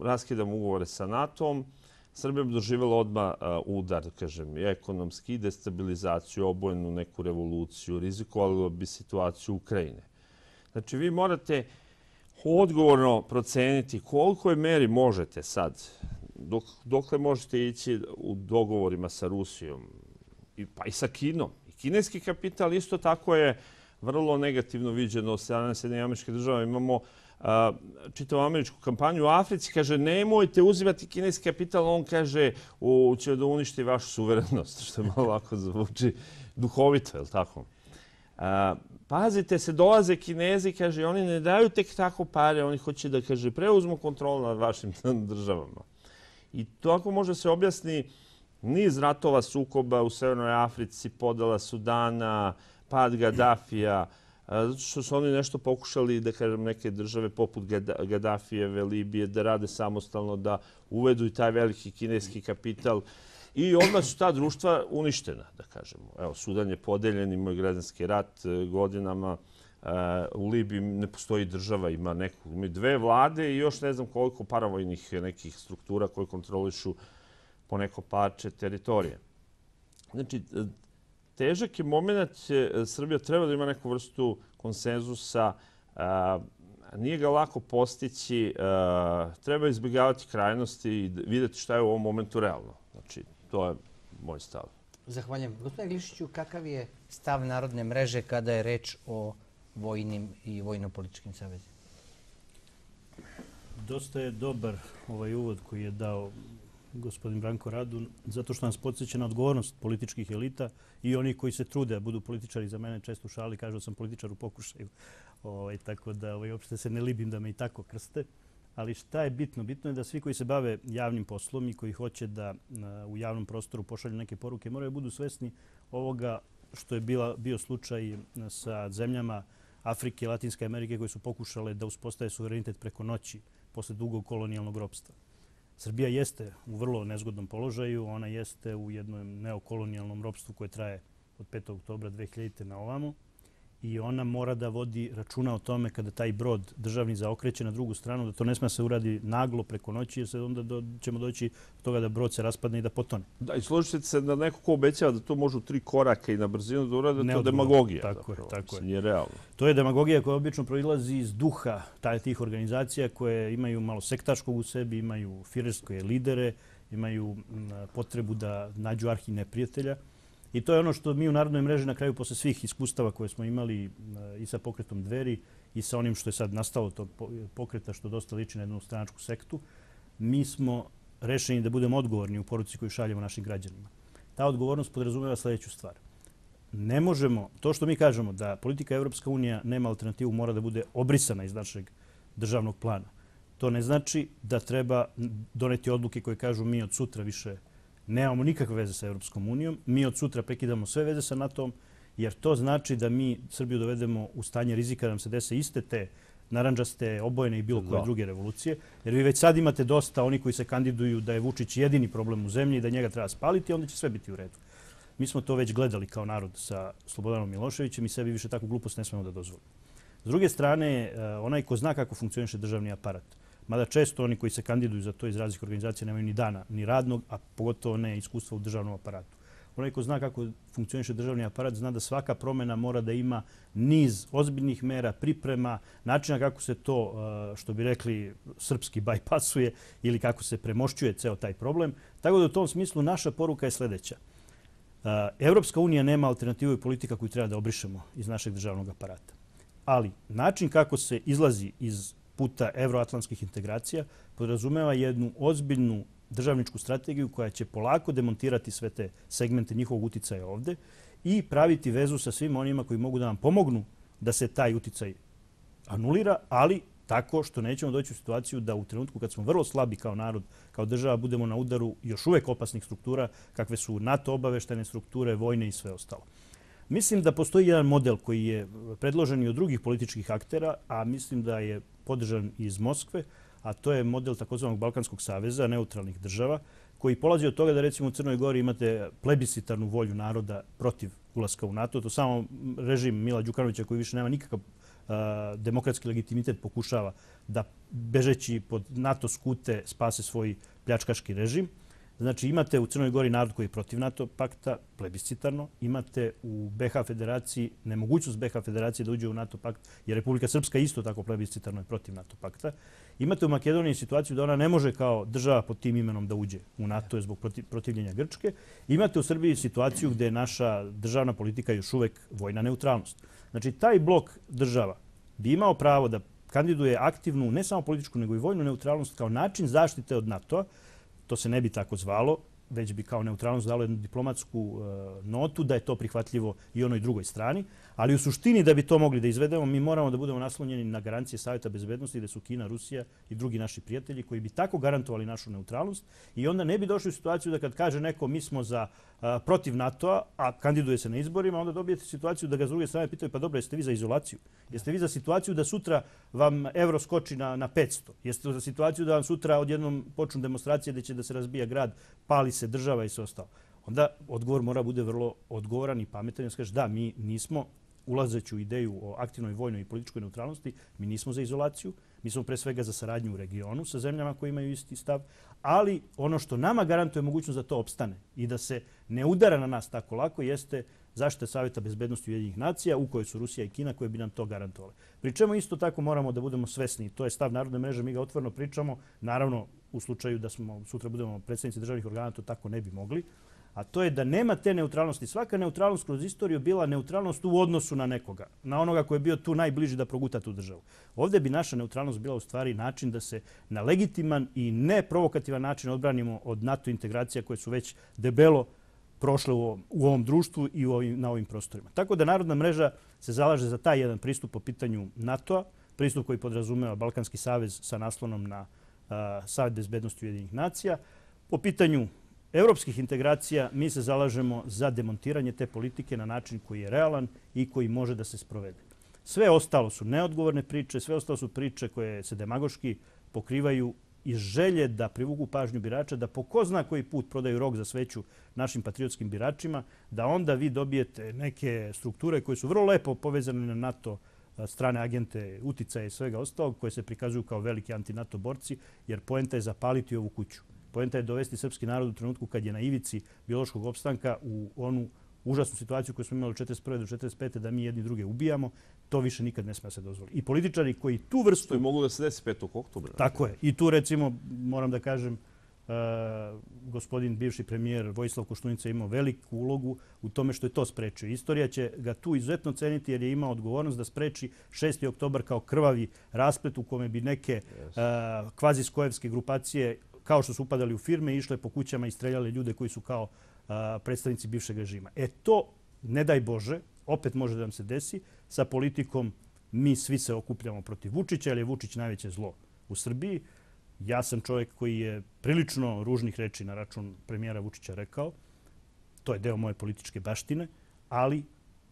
raskidamo ugovore sa NATO-om, Srbija bi doživjela odmah udar, da kažem, i ekonomski, destabilizaciju, obojenu neku revoluciju, rizikovalo bi situaciju Ukrajine. Znači, vi morate odgovorno proceniti koliko je meri možete sad, dokle možete ići u dogovorima sa Rusijom, pa i sa Kinom. I kineski kapital isto tako je vrlo negativno viđeno od strane Sjedinjenih Američkih Država. Imamo čitavu američku kampanju u Africi, kaže nemojte uzimati kineski kapital, on kaže će da uništi vašu suverenost, što je malo lako zvuči duhovito, je li tako? Pazite se, dolaze Kinezi, kaže, oni ne daju tek tako pare, oni hoće da, kaže, preuzmu kontrolu nad vašim državama. I tako može se objasni niz ratova, sukoba u Severnoj Africi, podela Sudana, pad Gaddafija, zato što su oni nešto pokušali, da kažem, neke države poput Gaddafijeve, Libije, da rade samostalno, da uvedu i taj veliki kineski kapital. I odmah su ta društva uništena, da kažemo. Evo, Sudan je podeljen, ima građanski rat godinama. U Libiji ne postoji država, ima dve vlade i još ne znam koliko paravojnih nekih struktura koje kontrolišu po neko parče teritorije. Znači, težak je moment, Srbija treba da ima neku vrstu konsenzusa, nije ga lako postići, treba izbjegavati krajnosti i vidjeti šta je u ovom momentu realno. Znači, to je moj stav. Zahvaljujem. Gospodine Glišiću, kakav je stav Narodne mreže kada je reč o vojnim i vojno-političkim savezima? Dosta je dobar ovaj uvod koji je dao gospodin Branko Radun, zato što nas podsjeća na odgovornost političkih elita i onih koji se trude da budu političari. Za mene često u šali kažu da sam političar u pokušaju. Tako da uopšte se ne libim da me i tako krste. Ali šta je bitno? Bitno je da svi koji se bave javnim poslom i koji hoće da u javnom prostoru pošalju neke poruke moraju budu svesni ovoga što je bio slučaj sa zemljama Afrike i Latinske Amerike koje su pokušale da uspostave suverenitet preko noći posle dugog kolonijalnog ropstva. Srbija jeste u vrlo nezgodnom položaju. Ona jeste u jednom neokolonijalnom ropstvu koje traje od 5. oktobra 2000. na ovamo. I ona mora da vodi računa o tome kada taj brod državni zaokreće na drugu stranu, da to ne sme se uradi naglo preko noći, jer se onda ćemo doći do toga da brod se raspadne i da potone. Da, i složite se da neko ko obećava da to može u 3 koraka i na brzinu da urade, to je demagogija. Tako je. Nije realno. To je demagogija koja obično proilazi iz duha tih organizacija koje imaju malo sektaškog u sebi, imaju firerske lidere, imaju potrebu da nađu arhi neprijatelja. I to je ono što mi u Narodnoj mreži na kraju posle svih iskustava koje smo imali i sa pokretom Dveri i sa onim što je sad nastalo tog pokreta što dosta liči na jednu stranačku sektu, mi smo rešeni da budemo odgovorni u poruci koju šaljemo našim građanima. Ta odgovornost podrazumeva sljedeću stvar. Ne možemo, to što mi kažemo da politika Evropska unija nema alternativu, mora da bude obrisana iz našeg državnog plana. To ne znači da treba doneti odluke koje kažu mi od sutra više nemamo nikakve veze sa Evropskom unijom. Mi od sutra prekidamo sve veze sa NATO-om, jer to znači da mi Srbiju dovedemo u stanje rizika da nam se dese iste te narandžaste, obojene i bilo koje druge revolucije. Jer vi već sad imate dosta oni koji se kandiduju da je Vučić jedini problem u zemlji i da njega treba spaliti, onda će sve biti u redu. Mi smo to već gledali kao narod sa Slobodanom Miloševićem i sebi više takvu glupost ne smemo da dozvolimo. S druge strane, onaj ko zna kako funkcioniše državni aparat, mada često oni koji se kandiduju za to iz različitih organizacija nemaju ni dana, ni radnog, a pogotovo ne iskustva u državnom aparatu. Onaj ko zna kako funkcioniše državni aparat zna da svaka promjena mora da ima niz ozbiljnih mera, priprema, načina kako se to, što bi rekli, srpski bajpasuje ili kako se premošćuje ceo taj problem. Tako da u tom smislu naša poruka je sljedeća. Evropska unija nema alternativu i politika koju treba da obrišemo iz našeg državnog aparata. Ali način kako se izlazi iz puta evroatlantskih integracija podrazumeva jednu ozbiljnu državničku strategiju koja će polako demontirati sve te segmente njihovog uticaja ovde i praviti vezu sa svim onima koji mogu da nam pomognu da se taj uticaj anulira, ali tako što nećemo doći u situaciju da u trenutku kad smo vrlo slabi kao narod, kao država, budemo na udaru još uvek opasnih struktura kakve su NATO obaveštajne strukture, vojne i sve ostalo. Mislim da postoji jedan model koji je predložen i od drugih političkih aktera, a mislim da je podržan iz Moskve, a to je model takozvanog Balkanskog saveza, neutralnih država, koji polazi od toga da recimo u Crnoj Gori imate plebiscitarnu volju naroda protiv ulaska u NATO. To samo režim Mila Đukanovića koji više nema nikakav demokratski legitimitet pokušava da bežeći pod NATO skute spase svoj pljačkaški režim. Znači imate u Crnoj Gori narod koji je protiv NATO pakta, plebiscitarno. Imate u BiH federaciji nemogućnost BiH federacije da uđe u NATO pakt, jer Republika Srpska isto tako plebiscitarno je protiv NATO pakta. Imate u Makedoniji situaciju da ona ne može kao država pod tim imenom da uđe u NATO zbog protivljenja Grčke. Imate u Srbiji situaciju gdje je naša državna politika još uvek vojna neutralnost. Znači taj blok država bi imao pravo da kandiduje aktivnu ne samo političku nego i vojnu neutralnost kao način zaštite od NATO-a. To se ne bi tako zvalo, već bi kao neutralnost dalo jednu diplomatsku notu da je to prihvatljivo i onoj drugoj strani. Ali u suštini da bi to mogli da izvedemo, mi moramo da budemo naslonjeni na garancije Savjeta bezbednosti gdje su Kina, Rusija i drugi naši prijatelji koji bi tako garantovali našu neutralnost i onda ne bi došli u situaciju da kad kaže neko mi smo protiv NATO-a, a kandiduje se na izborima, onda dobijete situaciju da ga s druge strane pitaju pa dobro, jeste vi za izolaciju? Jeste vi za situaciju da sutra vam evro skoči na 500? Jeste za situaciju da vam sutra odjednom počnu demonstracije gdje će da se razbija grad, pali se država i sve ostalo? Onda odgovor mora bude vrlo odgovoran i pametan i kaže da, mi nismo ulazeći u ideju o aktivnoj vojnoj i političkoj neutralnosti, mi nismo za izolaciju, mi smo pre svega za saradnju u regionu sa zemljama koji imaju isti stav, ali ono što nama garantuje mogućnost da to opstane i da se ne udara na nas tako lako jeste zaštita Savjeta bezbednosti Ujedinjenih nacija u kojoj su Rusija i Kina koje bi nam to garantovale. Pri čemu isto tako moramo da budemo svesni, to je stav Narodne mreže, mi ga otvoreno pričamo, naravno u slučaju da smo sutra budemo predsjednici državnih organa, to tako ne bi mogli, a to je da nema te neutralnosti. Svaka neutralnost kroz istoriju bila neutralnost u odnosu na nekoga, na onoga koji je bio tu najbliži da proguta tu državu. Ovdje bi naša neutralnost bila u stvari način da se na legitiman i neprovokativan način odbranimo od NATO integracija koje su već debelo prošle u ovom društvu i na ovim prostorima. Tako da Narodna mreža se zalaže za taj jedan pristup po pitanju NATO-a, pristup koji podrazumeva Balkanski savez sa naslonom na Savjet bezbednosti Ujedinjenih nacija. Po pitanju evropskih integracija mi se zalažemo za demontiranje te politike na način koji je realan i koji može da se sprovede. Sve ostalo su neodgovorne priče, sve ostalo su priče koje se demagoški pokrivaju iz želje da privuku pažnju birača, da po ko zna koji put prodaju rog za sveću našim patriotskim biračima, da onda vi dobijete neke strukture koje su vrlo lepo povezane na NATO strane agente, uticaje i svega ostalog, koje se prikazuju kao veliki anti-NATO borci, jer poenta je zapaliti ovu kuću. Poenta je dovesti srpski narod u trenutku kad je na ivici biološkog opstanka u onu užasnu situaciju koju smo imali od 1941. do 1945. da mi jedni druge ubijamo. To više nikad ne smije se dozvoliti. I političari koji tu vrstu... To je moglo da se desi 5. oktobra. Tako je. I tu recimo, moram da kažem, gospodin bivši premijer Vojislav Koštunica imao veliku ulogu u tome što je to sprečio. Istorija će ga tu izuzetno ceniti jer je imao odgovornost da spreči 6. oktobar kao krvavi rasplet u kome bi neke kvazi-skojevske grupacije kao što su upadali u firme, išle po kućama i streljali ljude koji su kao predstavnici bivšeg režima. To, ne daj Bože, opet može da nam se desi sa politikom mi svi se okupljamo protiv Vučića, jer je Vučić najveće zlo u Srbiji. Ja sam čovjek koji je prilično ružnih reči na račun premijera Vučića rekao. To je deo moje političke baštine, ali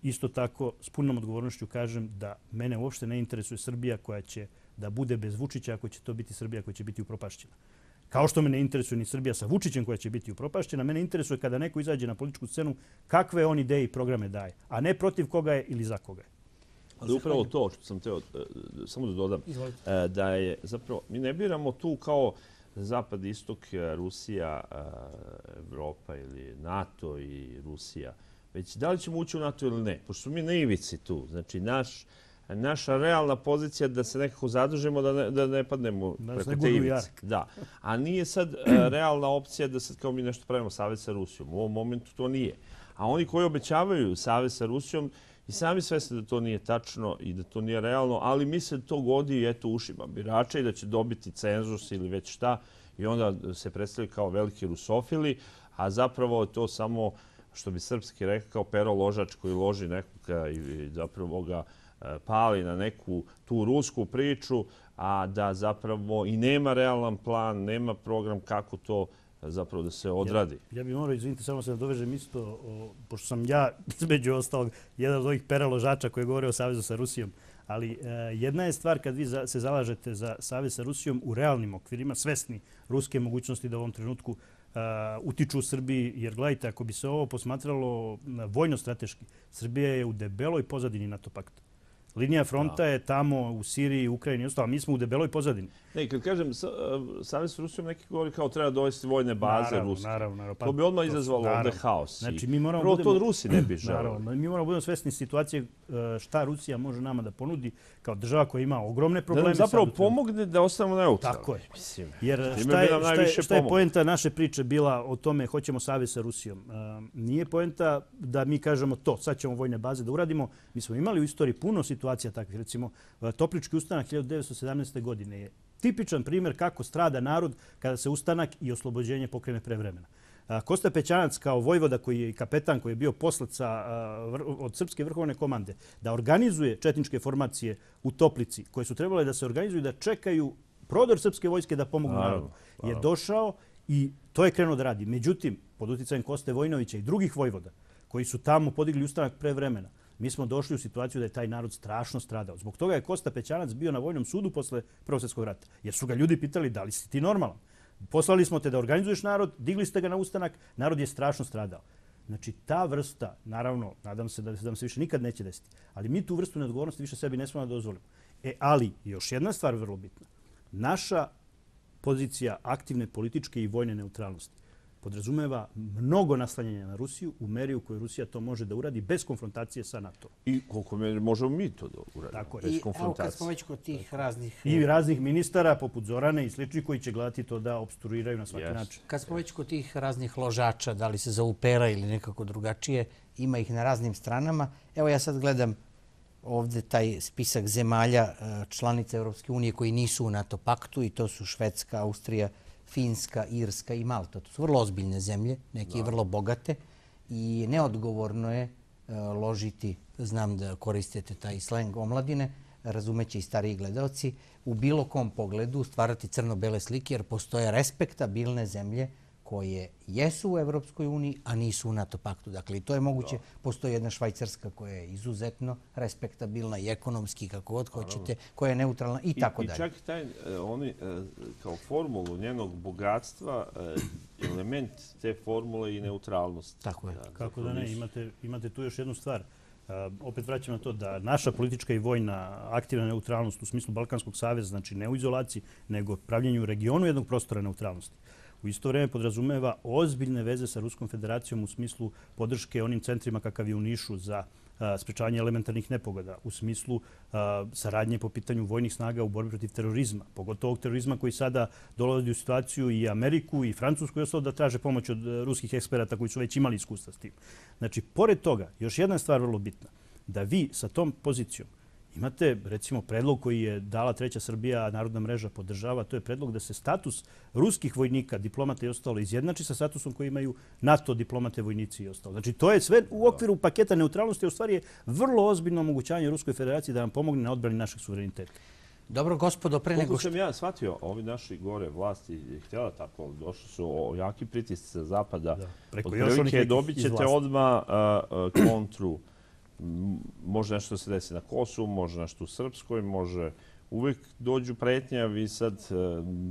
isto tako s punom odgovornošću kažem da mene uopšte ne interesuje Srbija koja će da bude bez Vučića, ako će to biti Srbija koja će biti upropašćena. Kao što me ne interesuje ni Srbija sa Vučićem koja će biti upropašćena, mene interesuje kada neko izađe na političku scenu kakve on ideje i programe daje, a ne protiv koga je ili za koga je. Ali upravo to što sam teo, samo da dodam, da je zapravo, mi ne biramo tu kao Zapad, Istok, Rusija, Evropa ili NATO i Rusija, već da li ćemo ući u NATO ili ne. Pošto smo mi na ivici tu, znači naša realna pozicija da se nekako zadužimo, da ne padnemo preko te ivice. Da. A nije sad realna opcija da sad kao mi nešto pravimo savez sa Rusijom. U ovom momentu to nije. A oni koji obećavaju savez sa Rusijom i sami svesni da to nije tačno i da to nije realno, ali misle da to godi ušima birača i da će dobiti cenzus ili već šta i onda se predstavljaju kao veliki rusofili, a zapravo je to samo, što bi srpski rekao, kao pero ložač koji loži nekoga i zapravo ga pali na neku tu rusku priču, a da zapravo i nema realan plan, nema program kako to zapravo da se odradi. Ja bih morao, izvinite, samo se nadovežem isto, pošto sam ja, između ostalog, jedan od ovih pera ložača koji govore o savezu sa Rusijom, ali jedna je stvar kad vi se zalažete za savez sa Rusijom u realnim okvirima, svesni ruske mogućnosti da u ovom trenutku utiču u Srbiji, jer gledajte, ako bi se ovo posmatralo vojno-strateški, Srbija je u debeloj pozadini NATO pakta. Linija fronta je tamo u Siriji, Ukrajini i ostalo. Mi smo u debeloj pozadini. Ne, kad kažem savez s Rusijom, neki govori kao treba dovesti vojne baze ruske. Naravno. To bi odmah izazvalo ovde haos. Znači, prvo to Rusi ne bi želeli. Mi moramo budemo svesni situacije šta Rusija može nama da ponudi kao država koja ima ogromne probleme. Da nam zapravo pomogne da ostanemo neutralni. Tako je. Jer šta je poenta naše priče bila o tome hoćemo savez sa Rusijom? Nije poenta da mi kažemo to, sad ćemo vojne baze da uradimo. Mi smo imali u istoriji puno situacija takvih. Recimo, Toplički ustanak 1917. godine je tipičan primjer kako strada narod kada se ustanak i oslobođenje pokrene pre vremena. Kosta Pećanac kao vojvoda koji je kapetan, koji je bio poslaca od Srpske vrhovne komande, da organizuje četničke formacije u Toplici, koje su trebale da se organizuju da čekaju prodor srpske vojske da pomognu narodu, je došao i to je krenuo da radi. Međutim, pod uticajem Koste Vojnovića i drugih vojvoda koji su tamo podigli ustanak pre vremena, mi smo došli u situaciju da je taj narod strašno stradao. Zbog toga je Kosta Pećanac bio na vojnom sudu posle Prvog svjetskog rata. Jer su ga ljudi pitali da li si ti normalan. Poslali smo te da organizuješ narod, digli ste ga na ustanak, narod je strašno stradao. Znači ta vrsta, naravno, nadam se da nam se više nikad neće desiti, ali mi tu vrstu neodgovornosti više sebi ne smemo da dozvolimo. Ali još jedna stvar vrlo bitna. Naša pozicija aktivne političke i vojne neutralnosti podrazumeva mnogo naslanjanja na Rusiju u meri u kojoj Rusija to može da uradi bez konfrontacije sa NATO. I koliko možemo mi to da uradimo bez konfrontacije. Evo kad smo već kod tih raznih... I raznih ministara poput Zorane i sličnih koji će gledati to da obstruiraju na svaki način. Kad smo već kod tih raznih ložača, da li se zovu pera ili nekako drugačije, ima ih na raznim stranama. Evo ja sad gledam ovdje taj spisak zemalja članica Europske unije koji nisu u NATO paktu i to su Švedska, Austrija, Finska, Irska i Malta. To su vrlo ozbiljne zemlje, neke i vrlo bogate i neodgovorno je ložiti, znam da koristite taj sleng omladine, razumeće i stariji gledalci, u bilo kom pogledu stvarati crno-bele slike jer postoje respektabilne zemlje koje jesu u Evropskoj uniji, a nisu u NATO paktu. Dakle, i to je moguće. Postoji jedna Švajcarska koja je izuzetno respektabilna i ekonomski, kako god hoćete, koja je neutralna i tako dalje. I čak oni kao formulu njenog bogatstva, element te formule i neutralnosti. Tako je. Kako da ne, imate tu još jednu stvar. Opet vraćam na to da naša politička i vojna aktivna neutralnost u smislu Balkanskog saveza, znači ne u izolaciji, nego pravljenju u regionu jednog prostora neutralnosti, u isto vrijeme podrazumeva ozbiljne veze sa Ruskom federacijom u smislu podrške onim centrima kakav je u Nišu za sprečavanje elementarnih nepogoda, u smislu saradnje po pitanju vojnih snaga u borbi protiv terorizma, pogotovo terorizma koji sada dolazi u situaciju i Ameriku i Francusku i ostalo da traže pomoć od ruskih eksperata koji su već imali iskustva s tim. Znači, pored toga, još jedna stvar vrlo bitna, da vi sa tom pozicijom imate, recimo, predlog koji je dala Treća Srbija, Narodna mreža podržava, to je predlog da se status ruskih vojnika, diplomata i ostalo izjednači sa statusom koji imaju NATO diplomate, vojnici i ostalo. Znači, to je sve u okviru paketa neutralnosti, a u stvari je vrlo ozbiljno omogućanje Ruskoj federaciji da nam pomogne na odbrani našeg suvereniteta. Dobro, gospodo, pre nego što... Koliko sam ja shvatio, ovi naši gore vlasti je htjela tako, došli su jaki pritisci sa zapada. Od prilike dobit ćete odmah kontru. Može nešto da se desi na Kosovu, može nešto u Srpskoj, može uvek dođu pretnje, a vi sad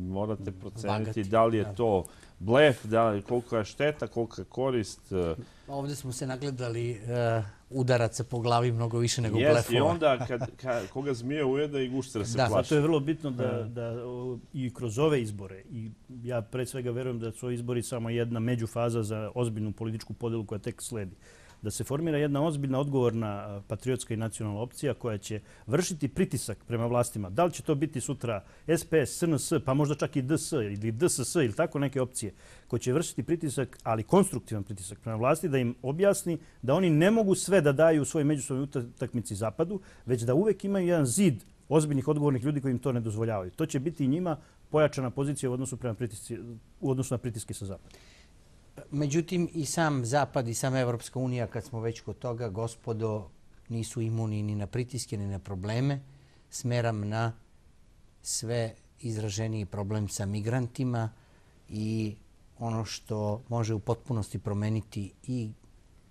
morate proceniti da li je to blef, koliko je šteta, koliko je korist. Ovdje smo se nagledali udaraca po glavi mnogo više nego blefova. I onda koga zmije ujeda i gušter se plaši. Zato je vrlo bitno da i kroz ove izbore, i ja pre svega verujem da su ovi izbori samo jedna međufaza za ozbiljnu političku podelu koja tek sledi. Da se formira jedna ozbiljna, odgovorna patriotska i nacionalna opcija koja će vršiti pritisak prema vlastima. Da li će to biti sutra SPS, SNS, pa možda čak i DS ili DSS ili tako neke opcije koje će vršiti pritisak, ali konstruktivan pritisak prema vlasti, da im objasni da oni ne mogu sve da daju u svojoj međusobnoj utakmici Zapadu, već da uvek imaju jedan zid ozbiljnih, odgovornih ljudi koji im to ne dozvoljavaju. To će biti i njima pojačana pozicija u odnosu na pritiske sa Zapada. Međutim, i sam Zapad i sama Evropska unija, kad smo već kod toga, gospodo, nisu imuni ni na pritiske, ni na probleme. Smeram na sve izraženiji problem sa migrantima i ono što može u potpunosti promeniti i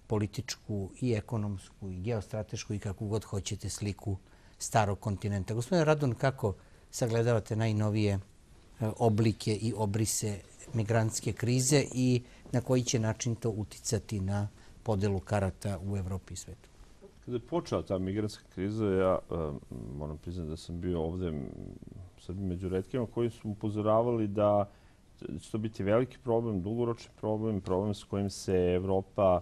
političku, i ekonomsku, i geostratešku, i kakvu god hoćete sliku starog kontinenta. Gospodine Radun, kako sagledavate najnovije oblike i obrise migrantske krize i na koji će način to uticati na podelu karata u Evropi i svetu? Kada je počela ta migrantska kriza, ja moram priznati da sam bio ovde među retkima koji su upozoravali da će to biti veliki problem, dugoročni problem, problem s kojim se Evropa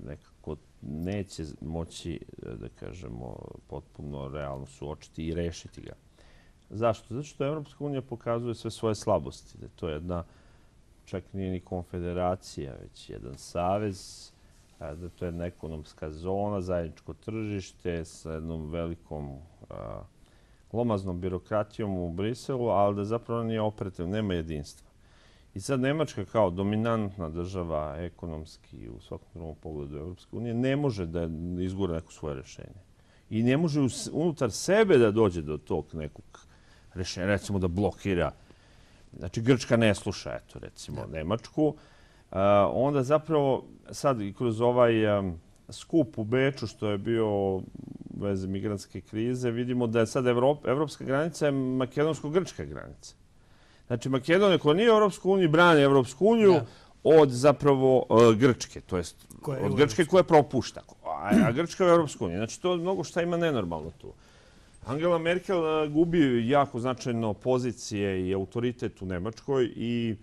nekako neće moći, da kažemo, potpuno realno suočiti i rešiti ga. Zašto? Zato što Evropska unija pokazuje sve svoje slabosti. Da to je jedna, čak nije ni konfederacija, već jedan savez, da to je jedna ekonomska zona, zajedničko tržište sa jednom velikom glomaznom birokratijom u Briselu, ali da zapravo nije operativno, nema jedinstva. I sad Nemačka kao dominantna država ekonomski u svakom drugom pogledu Evropske unije ne može da izgura neko svoje rješenje. I ne može unutar sebe da dođe do tog nekog rješenja, recimo da blokira. Znači, Grčka ne sluša, eto, recimo, Nemačku. Onda zapravo sad i kroz ovaj skup u Beču, što je bio u vezi migrantske krize, vidimo da je sad evropska granica je makedonsko-grčka granica. Znači, Makedonija koja nije u Evropsku uniju brani Evropsku uniju od zapravo Grčke, to jest od Grčke koja propušta, a Grčka je u Evropsku uniju. Znači, to mnogo šta ima nenormalno tu. Angela Merkel gubi jako značajno pozicije i autoritet u Nemačkoj i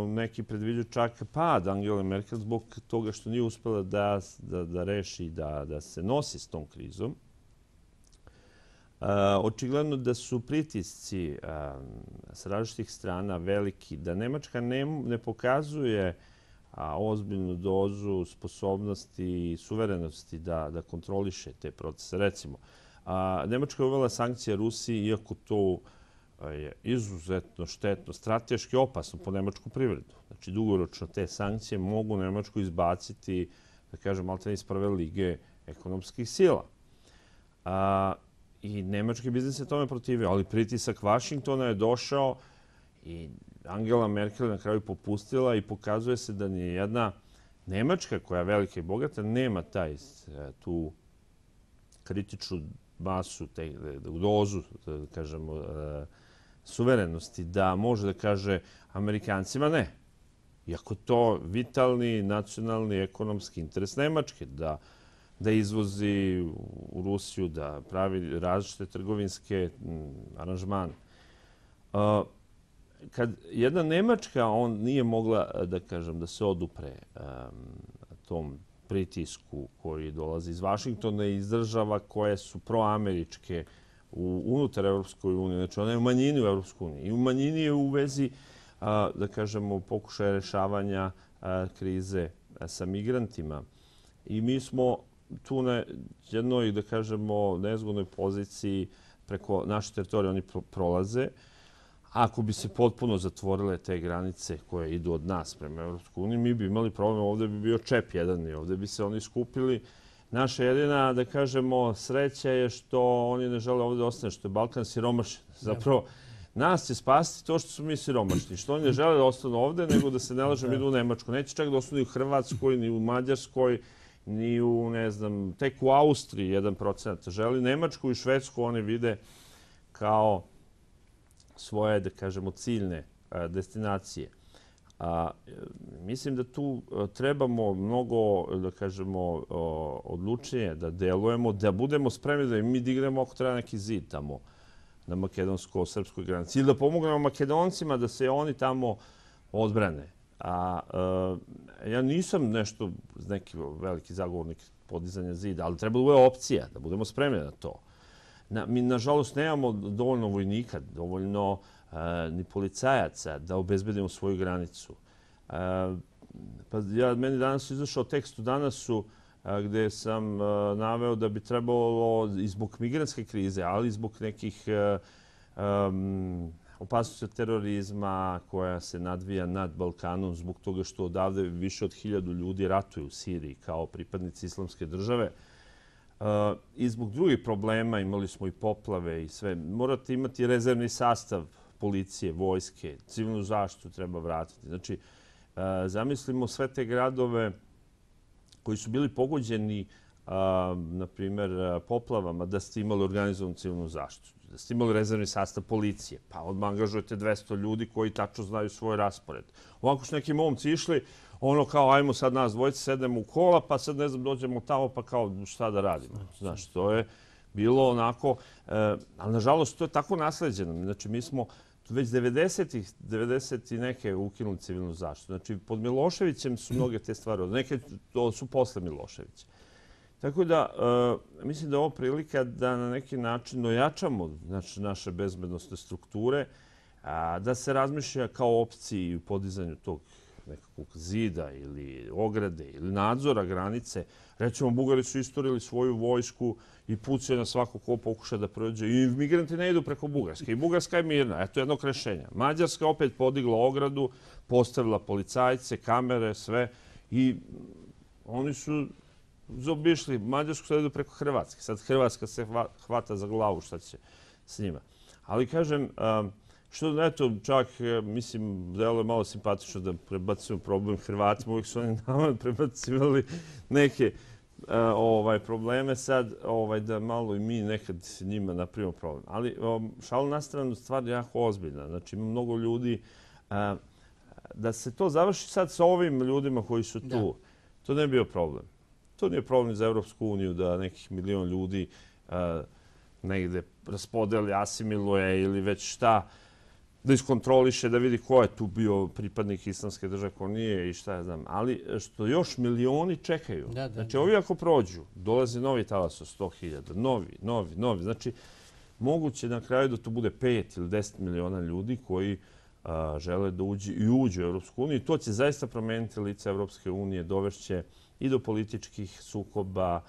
neki predviđaju čak pad Angela Merkel zbog toga što nije uspela da reši da se nosi s tom krizom. Očigledno da su pritisci s različitih strana veliki, da Nemačka ne pokazuje ozbiljnu dozu sposobnosti i suverenosti da kontroliše te procese. Recimo, Nemačka je uvela sankcije Rusiji, iako to je izuzetno štetno, strateški opasno po nemačku privredu. Znači, dugoročno te sankcije mogu Nemačku izbaciti, da kažem, maltene iz prve lige ekonomskih sila. I nemački biznis se tome protivio, ali pritisak Vašingtona je došao i Angela Merkel na kraju popustila i pokazuje se da ni jedna Nemačka koja je velika i bogata nema tu kritičnu masu, dozu, da kažemo, suverenosti, da može da kaže Amerikancima ne. Iako to vitalni, nacionalni, ekonomski interes Nemačke, da izvozi u Rusiju, da pravi različite trgovinske aranžmane. Kad jedna Nemačka, on nije mogla, da kažem, da se odupre tom pritisku koji dolazi iz Vašingtona i iz država koje su proameričke unutar Evropskoj unije. Znači, ona je u manjini u Evropskoj uniji. I u manjini je u vezi, da kažemo, pokušaja rešavanja krize sa migrantima. I mi smo tu na jednoj, da kažemo, nezgodnoj poziciji preko naše teritorije. Oni prolaze. Ako bi se potpuno zatvorile te granice koje idu od nas prema Evropskoj uniji, mi bi imali problem, ovdje bi bio čep jedan i ovdje bi se oni skupili. Naša jedina, da kažemo, sreća je što oni ne žele ovdje ostane, što je Balkan siromašen. Zapravo, nas će spasiti to što su mi siromašni, što oni ne žele da ostanu ovdje, nego da se ne lažem idu u Nemačku. Neće čak da ostanu i u Hrvatskoj, ni u Mađarskoj, ni u, ne znam, tek u Austriji 1% želi. Nemačku i Švedsku oni vide kao svoje, da kažemo, ciljne destinacije. Mislim da tu trebamo mnogo, da kažemo, odlučnije da delujemo, da budemo spremni da mi dignemo ako treba neki zid tamo na makedonsko-srpskoj granici. Ili da pomognemo Makedoncima da se oni tamo odbrane. Ja nisam nešto neki veliki zagovornik podizanja zida, ali treba da bude opcija, da budemo spremni na to. Mi, nažalost, nemamo dovoljno vojnika, dovoljno ni policajaca da obezbedimo svoju granicu. Meni danas izašao tekst u Danasu gde sam naveo da bi trebalo i zbog migrantske krize, ali i zbog nekih opasnosti od terorizma koja se nadvija nad Balkanom zbog toga što odavde više od 1000 ljudi ratuju u Siriji kao pripadnici Islamske države. I zbog drugih problema, imali smo i poplave i sve. Morate imati rezervni sastav policije, vojske, civilnu zaštitu treba vratiti. Znači, zamislimo sve te gradove koji su bili pogođeni, na primjer, poplavama, da ste imali organizovanu civilnu zaštitu, da ste imali rezervni sastav policije, pa odmah angažujete 200 ljudi koji tačno znaju svoj raspored. Ovako su neki momci išli, ono kao, ajmo sad nas dvojice, sedemo u kola, pa sad, ne znam, dođemo tamo, pa kao, šta da radimo? Znaš, to je bilo onako, ali nažalost, to je tako nasleđeno. Znači, mi smo već 90 i neke ukinuli civilnu zaštitu. Znači, pod Miloševićem su mnoge te stvari, neke to su posle Miloševića. Tako da, mislim da je ovo prilika da na neki način ojačamo naše bezbednosne strukture, da se razmišlja kao opciji u podizanju tog nekakvog zida ili ograde ili nadzora granice. Recimo, Bugari su isturili svoju vojsku i pucaju na svako ko pokuša da prođe. I migranti ne idu preko Bugarske. I Bugarska je mirna. Eto jednog rešenja. Mađarska opet podigla ogradu, postavila policajce, kamere, sve. I oni su zaobišli Mađarsku, sad idu preko Hrvatske. Sad Hrvatska se hvata za glavu šta će s njima. Ali kažem, što, eto, čak, mislim, delo je malo simpatično da prebacimo problem Hrvatima. Uvijek su oni nama prebacivali neke probleme. Sad, da malo i mi nekad njima napravimo problem. Ali, šalu na stranu, stvar je jako ozbiljna. Znači, ima mnogo ljudi. Da se to završi sad sa ovim ljudima koji su tu, to ne bi bio problem. To nije problem za Evropsku uniju da nekih 1 milion ljudi negde raspodeli, asimiluje ili već šta, da iskontroliše, da vidi ko je tu bio pripadnik Islamske države, ko nije i šta ja znam. Ali što još milioni čekaju. Znači, ovi ako prođu, dolazi novi talas od 100.000, novi. Znači, moguće na kraju da to bude 5 ili 10 miliona ljudi koji žele da uđu u Evropsku uniju. To će zaista promeniti lice Evropske unije, dovešće i do političkih sukoba,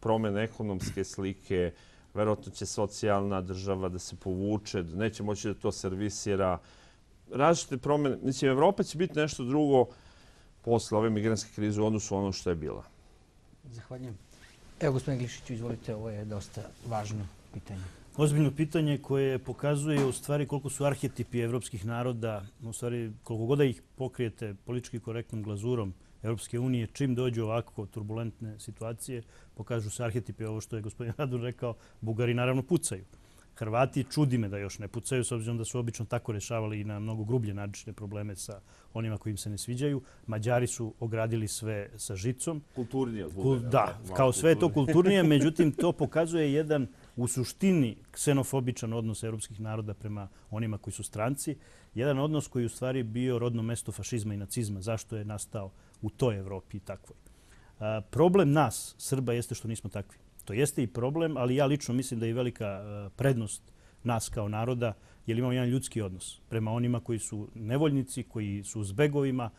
promene ekonomske slike, verovatno će socijalna država da se povuče, neće moći da to servisira. Različite promene. Mislim, Evropa će biti nešto drugo posle ove migrantske krize u odnosu ono što je bila. Zahvaljujem. Evo, gospodine Glišiću, izvolite, ovo je dosta važno pitanje. Ozbiljno pitanje koje pokazuje u stvari koliko su arhetipi evropskih naroda, u stvari koliko god da ih pokrijete politički korektnom glazurom Evropske unije, čim dođu ovako turbulentne situacije, pokažu se arhetipi, ovo što je gospodin Radun rekao, Bugari naravno pucaju. Hrvati, čudi me da još ne pucaju, s obzirom da su obično tako rešavali i na mnogo grublje načine probleme sa onima koji im se ne sviđaju. Mađari su ogradili sve sa žicom. Kulturnije od Bugara. Da, kao sve je to kulturnije, međutim to pokazuje jedan u suštini ksenofobičan odnos evropskih naroda prema onima koji su stranci. Jedan odnos koji u stvari bio rodno mesto fašizma i nacizma. Zašto je nastao u toj Evropi i takvoj? Problem nas, Srba, jeste što nismo takvi. To jeste i problem, ali ja lično mislim da je velika prednost nas kao naroda, jer imamo jedan ljudski odnos prema onima koji su nevoljnici, koji su zbegovima,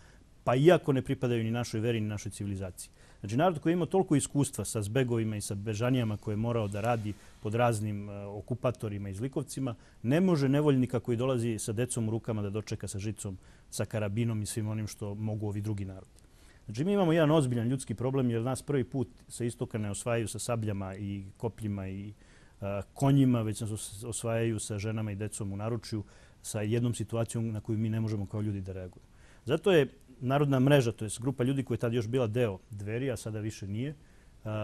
pa iako ne pripadaju ni našoj veri, ni našoj civilizaciji. Znači, narod koji ima toliko iskustva sa zbegovima i sa bežanijama koje je morao da radi pod raznim okupatorima i zlikovcima, ne može nevoljnika koji dolazi sa decom u rukama da dočeka sa žicom, sa karabinom i svim onim što mogu ovi drugi narodi. Znači, mi imamo jedan ozbiljan ljudski problem jer nas prvi put sa istoka ne osvajaju sa sabljama i kopljima i konjima, već nas osvajaju sa ženama i decom u naručju, sa jednom situacijom na koju mi ne možemo kao ljudi da reagujemo. Zato je Narodna mreža, to je grupa ljudi koja je tada još bila deo Dveri, a sada više nije,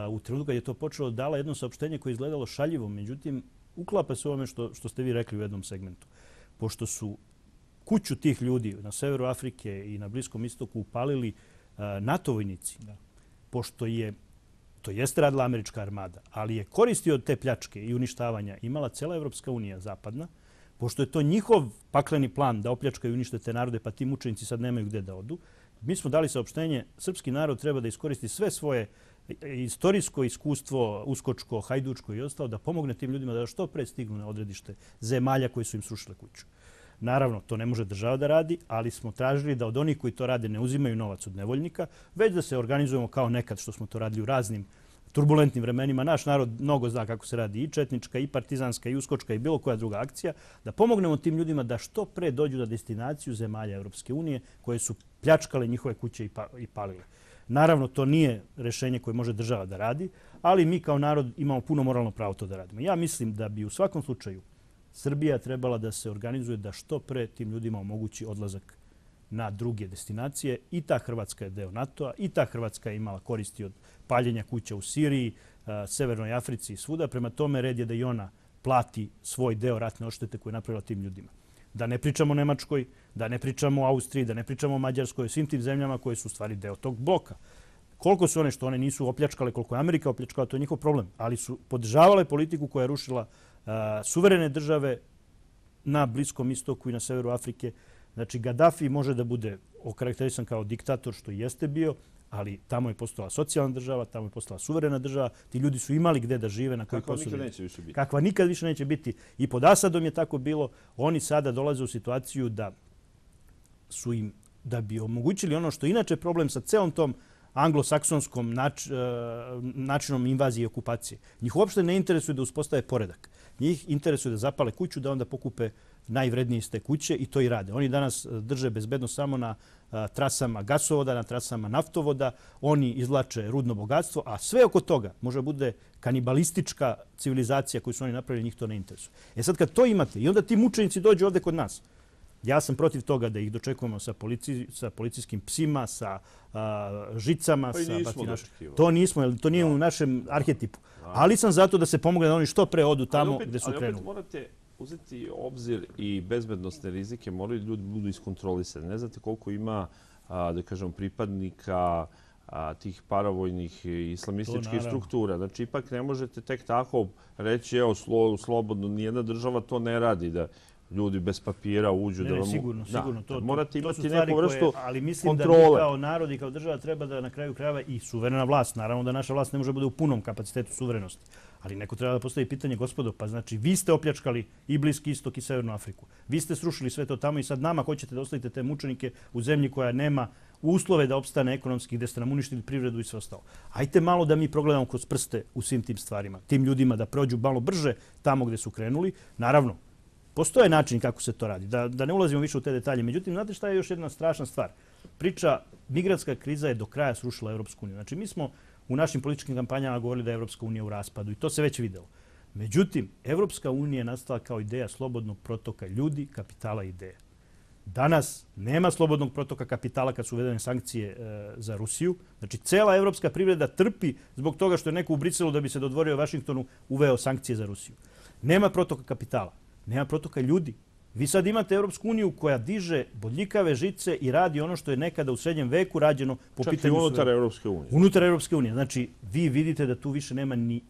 u trenutku kad je to počelo dala jedno saopštenje koje je izgledalo šaljivo, međutim, uklapa se ovome što ste vi rekli u jednom segmentu. Pošto su kuću tih ljudi na severu Afrike i na Bliskom istoku upalili NATO vojnici, pošto to jeste radila američka armada, ali je koristi od te pljačke i uništavanja imala cela Evropska unija zapadna, pošto je to njihov pakleni plan da opljačkaju i unište te narode, pa ti mučenici sad nemaju gde da odu, mi smo dali saopštenje, srpski narod treba da iskoristi sve svoje istorijsko iskustvo, uskočko, hajdučko i ostalo, da pomogne tim ljudima da što pre stignu na odredište zemalja koji su im srušile kuću. Naravno, to ne može država da radi, ali smo tražili da od onih koji to rade ne uzimaju novac od nevoljnika, već da se organizujemo kao nekad što smo to radili u raznim turbulentnim vremenima. Naš narod mnogo zna kako se radi i četnička, i partizanska, i uskočka, i bilo koja druga akcija, da pomognemo tim ljudima da što pre dođu na destinaciju zemalja Evropske unije koje su pljačkale njihove kuće i palile. Naravno, to nije rešenje koje može država da radi, ali mi kao narod imamo puno moralno pravo to da radimo. Ja mislim da bi u svakom slučaju Srbija trebala da se organizuje da što pre tim ljudima omogući odlazak na druge destinacije. I ta Hrvatska je deo NATO-a, i ta Hrvatska je imala koristi od paljenja kuća u Siriji, Severnoj Africi i svuda. Prema tome, red je da i ona plati svoj deo ratne odštete koje je napravila tim ljudima. Da ne pričamo o Nemačkoj, da ne pričamo o Austriji, da ne pričamo o Mađarskoj, svim tim zemljama koje su u stvari deo tog bloka. Koliko su one što one nisu opljačkale, koliko je Amerika opljačkala, to je njihov problem. Ali su podržavale politiku koja je rušila suverene države na Bliskom istoku i na severu Afrike. Znači, Gaddafi može da bude okarakterisan kao diktator, što jeste bio, ali tamo je postala socijalna država, tamo je postala suverena država. Ti ljudi su imali gde da žive, na koji posao. Kakva nikad neće više biti. Kakva nikad više neće biti. I pod Asadom je tako bilo. Oni sada dolaze u situaciju da su im, da bi omogućili ono što je inače problem sa celom tom anglosaksonskom načinom invazije i okupacije. Njih uopšte ne interesuje da uspostave poredak. Njih interesuje da zapale kuću, da onda pokupe najvrednije iz te kuće i to i rade. Oni danas drže bezbednost samo na trasama gasovoda, na trasama naftovoda. Oni izvlače rudno bogatstvo, a sve oko toga može bude kanibalistička civilizacija koju su oni napravili, njih to ne interesuje. E sad kad to imate i onda ti mučenici dođu ovde kod nas, ja sam protiv toga da ih dočekujemo sa policijskim psima, sa žicama, sa batinašima. To nismo, to nije u našem arhetipu. Ali sam zato da se pomogne da oni što pre odu tamo gde su krenuli. Ali opet morate uzeti obzir i bezbednostne rizike, moraju ljudi budu iskontrolisani. Ne znate koliko ima, da kažem, pripadnika tih paravojnih islamističkih struktura. Znači, ipak ne možete tek tako reći, evo, slobodno, nijedna država to ne radi, da ljudi bez papira uđu. Ne, sigurno. Morate imati neku vrstu kontrole. Ali mislim da mi kao narod i kao država treba da na kraju krajeva i suverena vlast. Naravno da naša vlast ne može bude u punom kapacitetu suverenosti. Ali neko treba da postavi pitanje, gospodo, pa znači vi ste opljačkali i Bliski istok i Severnu Afriku. Vi ste srušili sve to tamo i sad nama hoćete da ostavite te mučenike u zemlji koja nema uslove da opstane ekonomski, gde ste nam uništili privredu i sve ostalo. Ajte malo da mi progledamo kroz prste u svim tim stvarima. Tim ljudima da prođu malo brže tamo gde su krenuli. Naravno, postoje način kako se to radi, da ne ulazimo više u te detalje. Međutim, znate šta je još jedna strašna stvar? Migratska kriza je do kraja srušila Evropsku uniju. Znači, mi smo u našim političkim kampanjama govorili da je Evropska unija u raspadu i to se već videlo. Međutim, Evropska unija je nastala kao ideja slobodnog protoka ljudi, kapitala i ideje. Danas nema slobodnog protoka kapitala kad su uvedene sankcije za Rusiju. Znači, cela evropska privreda trpi zbog toga što je neko u Briselu da bi se dodvorio Vašingtonu uveo sankcije za Rusiju. Nema protoka kapitala. Nema protoka ljudi. Vi sad imate Evropsku uniju koja diže bodljikave žice i radi ono što je nekada u srednjem veku rađeno po pitanju... Čak i unutar Evropske unije. Unutar Evropske unije. Znači, vi vidite da tu više nema ni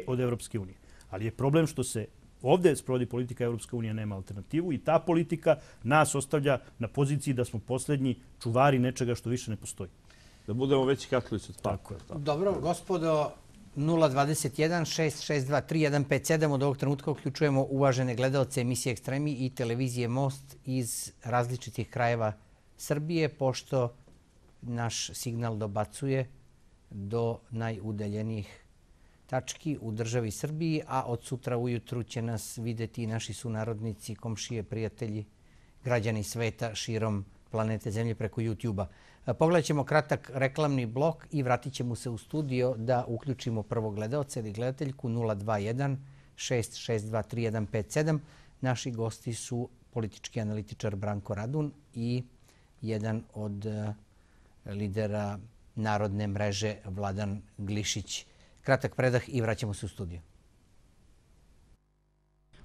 od Evropske unije. Ali je problem što se ovdje sprovodi politika Evropska unija, nema alternativu i ta politika nas ostavlja na poziciji da smo posljednji čuvari nečega što više ne postoji. Da budemo veći katolici od Tako je. Dobro, gospodo, 021-662-3157. Od ovog trenutka uključujemo uvažene gledalce emisije Ekstremi i televizije Most iz različitih krajeva Srbije, pošto naš signal dobacuje do najudaljenijih tački u državi Srbiji, a od sutra ujutru će nas videti i naši sunarodnici, komšije, prijatelji, građani sveta širom planete Zemlje preko YouTube-a. Pogledat ćemo kratak reklamni blok i vratit ćemo se u studio da uključimo prvog gledalca ili gledateljku 021-662-3157. Naši gosti su politički analitičar Branko Radun i jedan od lidera Narodne mreže Vladan Glišić. Kratak predah i vraćamo se u studiju.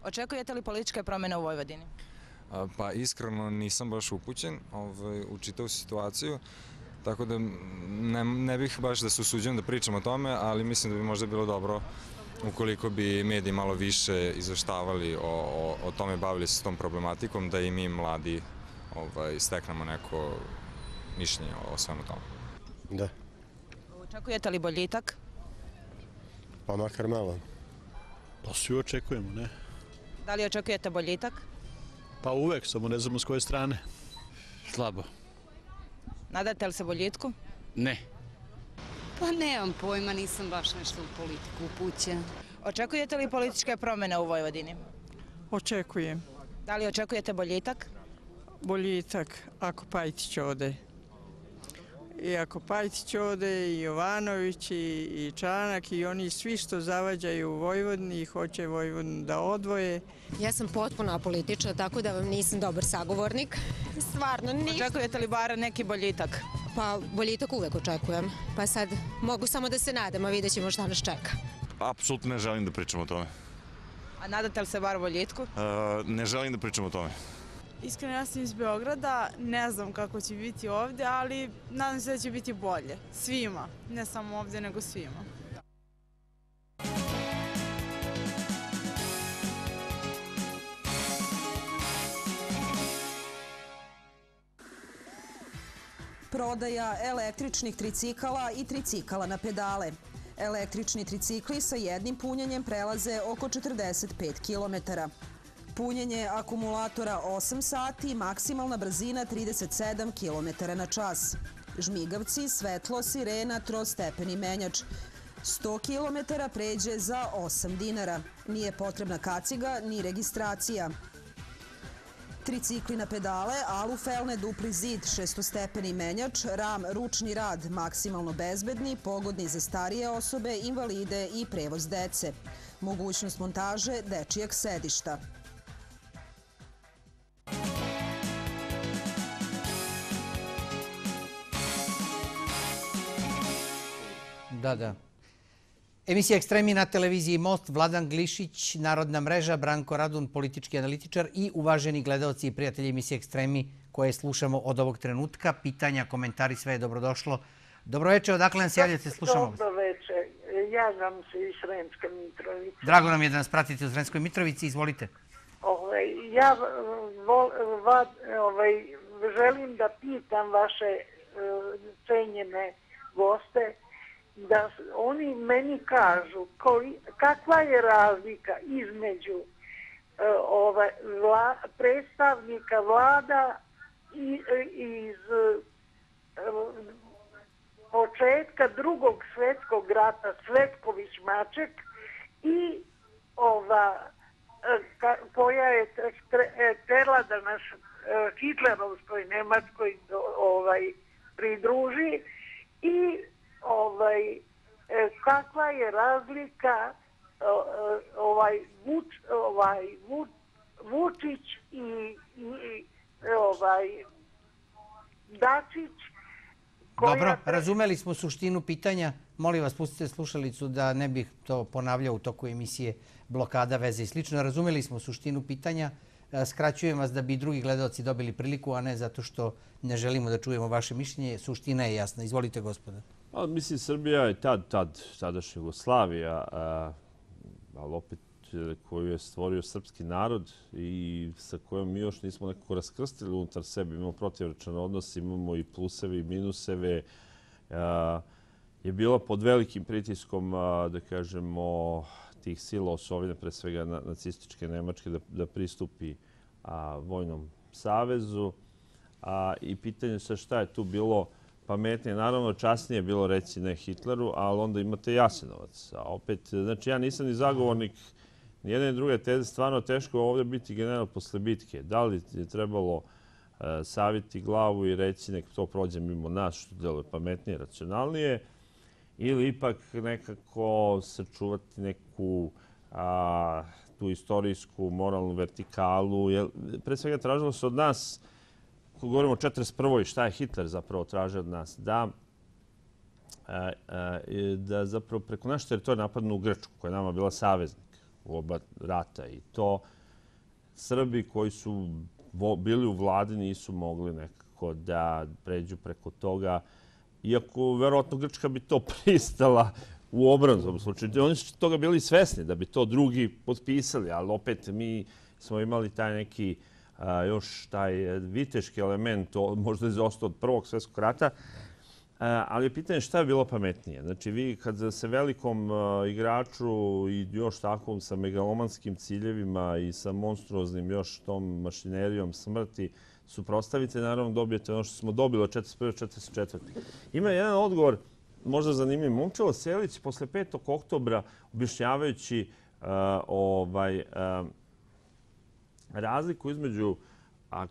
Očekujete li političke promjene u Vojvodini? Pa iskreno nisam baš upućen u čitavu situaciju, tako da ne bih baš da se usuđujem da pričam o tome, ali mislim da bi možda bilo dobro ukoliko bi mediji malo više izveštavali o tome, bavili se s tom problematikom, da i mi mladi steknemo neko mišljenje o svemu tome. Da. Očekujete li boljitak? Pa makar malo. Pa svi očekujemo, ne? Da li očekujete boljitak? Pa uvek, samo ne znamo s koje strane. Slabo. Nadate li se boljitku? Ne. Pa nemam pojma, nisam baš nešto u politiku upućena. Očekujete li političke promjene u Vojvodini? Očekujem. Da li očekujete boljitak? Boljitak ako Pajtić ode. I ako Pajtić ode, i Jovanović, i Čanak, i oni svi što zavađaju u Vojvodini i hoće Vojvodinu da odvoje. Ja sam potpuno apolitična, tako da vam nisam dobar sagovornik. Stvarno nisam. Očekujete li bar neki boljitak? Pa boljitak uvek očekujem. Pa sad mogu samo da se nadam, a vidjet ćemo šta nas čeka. Apsolutno ne želim da pričam o tome. A nadate li se bar boljitku? Ne želim da pričam o tome. Iskreno, ja sam iz Beograda, ne znam kako će biti ovdje, ali nadam se da će biti bolje. Svima, ne samo ovdje, nego svima. Prodaja električnih tricikala i tricikala na pedale. Električni tricikli sa jednim punjenjem prelaze oko 45 km. Punjenje akumulatora 8 sati, maksimalna brzina 37 km na čas. Žmigavci, svetlo, sirena, trostepeni menjač. 100 km pređe za 8 dinara. Nije potrebna kaciga ni registracija. Tricikli na pedale, alufelne, dupli zid, 6-stepeni menjač, ram, ručni rad, maksimalno bezbedni, pogodni za starije osobe, invalide i prevoz dece. Mogućnost montaže dečijeg sedišta. Da. Emisija Ekstremi na televiziji Most, Vladan Glišić, Narodna mreža, Branko Radun, politički analitičar i uvaženi gledaoci i prijatelji emisije Ekstremi koje slušamo od ovog trenutka. Pitanja, komentari, sve je dobrodošlo. Dobroveče, odakle nam se javljate, slušamo. Dobroveče, javljam se iz Sremske Mitrovice. Drago nam je da nas pratite u Sremskoj Mitrovici, izvolite. Ja želim da pitam vaše cenjene goste, da oni meni kažu kakva je razlika između predstavnika vlada iz početka Drugog svjetskog rata, Cvetković-Maček, i koja je htjela da nas Hitlerovskoj Nemačkoj pridruži, i kakva je razlika Vučić i Dačić. Dobro, razumeli smo suštinu pitanja. Molim vas, pustite slušalicu da ne bih to ponavljao u toku emisije, blokada, veze i slično. Razumeli smo suštinu pitanja. Skraćujem vas da bi drugi gledalci dobili priliku, a ne zato što ne želimo da čujemo vaše mišljenje. Suština je jasna. Izvolite, gospoda. Mislim, Srbija je tadašnja Jugoslavija, ali opet koju je stvorio srpski narod i sa kojom mi još nismo nekako raskrstili unutar sebe. Imamo protivrečan odnos, imamo i pluseve i minuseve. Je bila pod velikim pritiskom, da kažemo, tih sila osovine, pre svega nacističke Nemačke, da pristupi vojnom savezu. I pitanje se šta je tu bilo pametnije. Naravno, časnije je bilo reći ne Hitleru, ali onda imate Jasenovac. A opet, znači, ja nisam ni zagovornik ni jedne ni druge teze. Stvarno teško ovdje biti general posle bitke. Da li je trebalo saviti glavu i reći nek to prođe mimo nas, što deluje pametnije, racionalnije, ili ipak nekako sačuvati neku tu istorijsku, moralnu vertikalu. Pre svega tražilo se od nas ako govorimo o 1941. šta je Hitler zapravo tražio od nas? Da zapravo preko naše teritorije napadnu u Grčku, koja je nama bila saveznik u oba rata. I to Srbi koji su bili u vladi nisu mogli nekako da pređu preko toga. Iako, verovatno, Grčka bi to pristala u obranu slučaju. Oni su toga bili svesni da bi to drugi potpisali, ali opet mi smo imali taj neki još taj viteški element, možda je ostao od Prvog svjetskog rata, ali je pitanje šta je bilo pametnije. Znači, vi kad se velikom igraču i još takvom sa megalomanskim ciljevima i sa monstruoznim još tom mašinerijom smrti suprotstavite, naravno dobijete ono što smo dobili od 1941. 1944. Ima jedan odgovor, možda zanimljiv. Momčilo Selić posle 5. oktobra objašnjavajući razliku između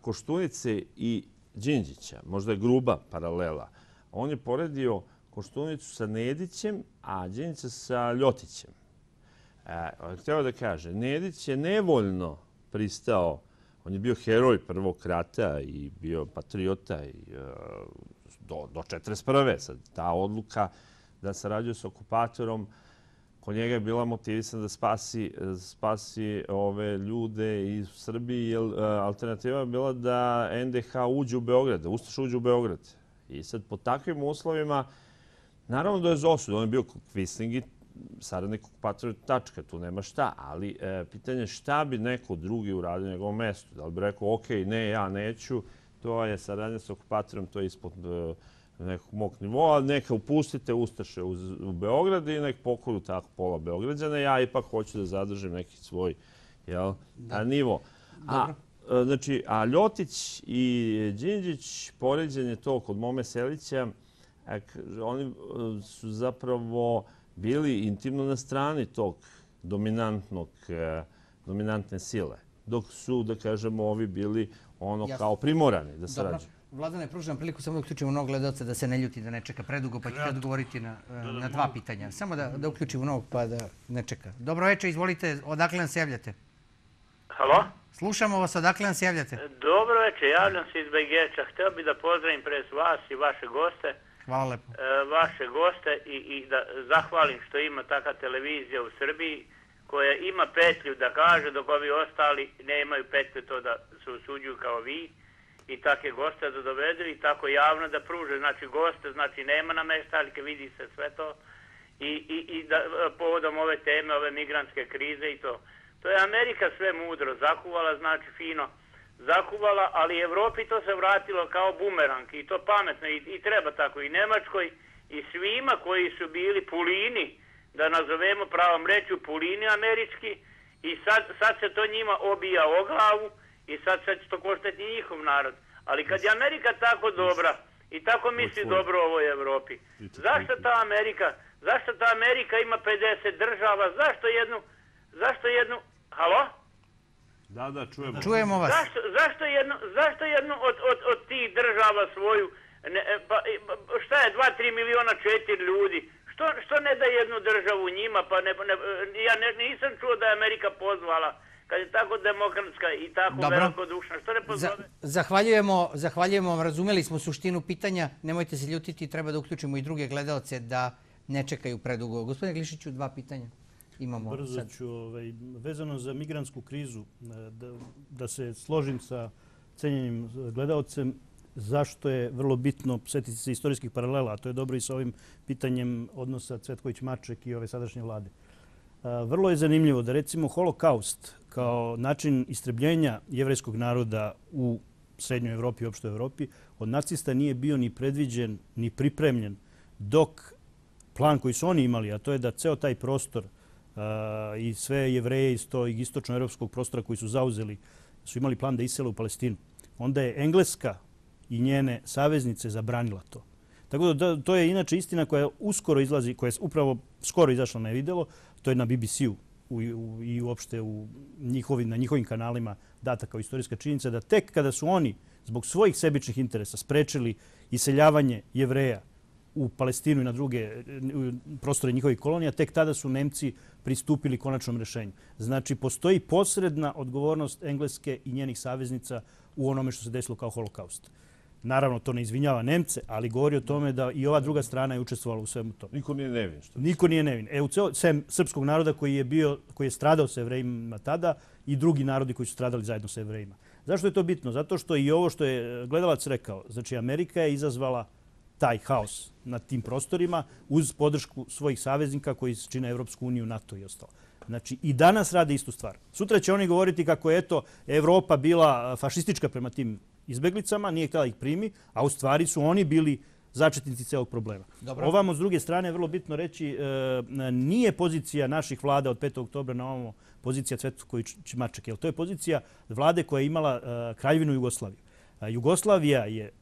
Koštunice i Đinđića, možda je gruba paralela. On je poredio Koštunicu sa Nedićem, a Đinđića sa Ljotićem. Htio da kaže, Nedić je nevoljno pristao, on je bio heroj Prvog rata i bio patriota do 1941. Sad, ta odluka da sarađuje s okupatorom, kod njega je bila motivisana da spasi ove ljude iz Srbiji, jer alternativa je bila da NDH uđe u Beograd, da Ustaša uđe u Beograd. I sad, po takvim uslovima, naravno da je za osud. On je bio Kvisling i saradnik okupatora, tačka, tu nema šta. Ali pitanje je šta bi neko drugi uradio na njegovom mestu. Da li bi rekao, ok, ne, ja neću, to je saradnja s okupatorom, to je ispod nekog mog nivoa, neka upustite Ustaše u Beograd i nek pokoju tako pola Beograđana. Ja ipak hoću da zadržim neki svoj nivo. Znači, a Ljotić i Đinđić, poređenje to kod Mome Selića, oni su zapravo bili intimno na strani tog dominantne sile. Dok su, da kažemo, ovi bili ono kao primorani da sarađuju. Vladane, pružam priliku samo da uključimo novog gledalca da se ne ljuti, da ne čeka predugo, pa ćete odgovoriti na 2 pitanja. Samo da uključimo novog pa da ne čeka. Dobro večer, izvolite, odakle nam se javljate? Halo? Slušamo vas, odakle nam se javljate? Dobro večer, javljam se iz Begeča. Htio bih da pozdravim pre vas i vaše goste. Hvala lepo. Vaše goste i da zahvalim što ima takva televizija u Srbiji koja ima petlju da kaže dok ovi ostali nemaju petlju to da se usuđuju kao vi i takve goste da dovedu i tako javno da pruže. Znači goste, znači nema nameštaljke, vidi se sve to i da povodom ove teme, ove migrantske krize i to. To je Amerika sve mudro zakuvala, znači fino zakuvala, ali Evropi to se vratilo kao bumerang i to pametno i treba tako i Nemačkoj i svima koji su bili pulini, da nazovemo pravom rečju pulini američki i sad se to njima obija o glavu i sad će to koštati njihov narod. Ali kad je Amerika tako dobra i tako misli dobro o ovoj Evropi, zašto ta Amerika ima 50 država, zašto jednu, halo? Da, čujemo. Čujemo vas. Zašto jednu od tih država svoju, šta je, 2-3 miliona 4 ljudi, što ne da jednu državu njima, pa ja nisam čuo da je Amerika pozvala, kad je tako demokratska i tako velikodušna, što ne pozove? Zahvaljujemo vam, razumeli smo suštinu pitanja, nemojte se ljutiti, treba da uključimo i druge gledalce da ne čekaju predugo. Gospodine Glišiću, 2 pitanja. Brzo ću, vezano za migrantsku krizu, da se složim sa cenjenim gledalcem, zašto je vrlo bitno setiti se istorijskih paralela, a to je dobro i sa ovim pitanjem odnosa Cvetković-Maček i ove sadašnje vlade. Vrlo je zanimljivo da recimo holokaust kao način istrebljenja jevrejskog naroda u Srednjoj Evropi i opštoj Evropi od nacista nije bio ni predviđen, ni pripremljen, dok plan koji su oni imali, a to je da ceo taj prostor i sve Jevreje iz tog istočnoevropskog prostora koji su zauzeli su imali plan da isele u Palestinu. Onda je Engleska i njene saveznice zabranila to. Tako da to je inače istina koja uskoro izlazi, koja je upravo skoro izašla na videlo, to je na BBC-u i uopšte na njihovim kanalima data kao istorijska činjenica da tek kada su oni zbog svojih sebičnih interesa sprečili iseljavanje Jevreja u Palestinu i na druge prostore njihovih kolonija, tek tada su Nemci pristupili konačnom rešenju. Znači, postoji posredna odgovornost Engleske i njenih saveznica u onome što se desilo kao holokaust. Naravno, to ne izvinjava Nemce, ali govori o tome da i ova druga strana je učestvovala u svemu tome. Niko nije nevin. Niko nije nevin. Sem srpskog naroda koji je stradao sa Jevrejima tada i drugi narodi koji su stradali zajedno sa Jevrejima. Zašto je to bitno? Zato što i ovo što je gledalac rekao, znači Amerika je izazvala taj haos na tim prostorima uz podršku svojih saveznika koji čine Evropsku uniju, NATO i ostalo. Znači, i danas rade istu stvar. Sutra će oni govoriti kako je Evropa bila fašistička prema tim izbeglicama, nije htjela ih primi, a u stvari su oni bili začetnici celog problema. Ovamo, s druge strane, je vrlo bitno reći, nije pozicija naših vlada od 5. oktobra na ovamo pozicija Cvetković-Maček, jer to je pozicija vlade koja je imala Kraljevinu Jugoslaviju. Jugoslavija je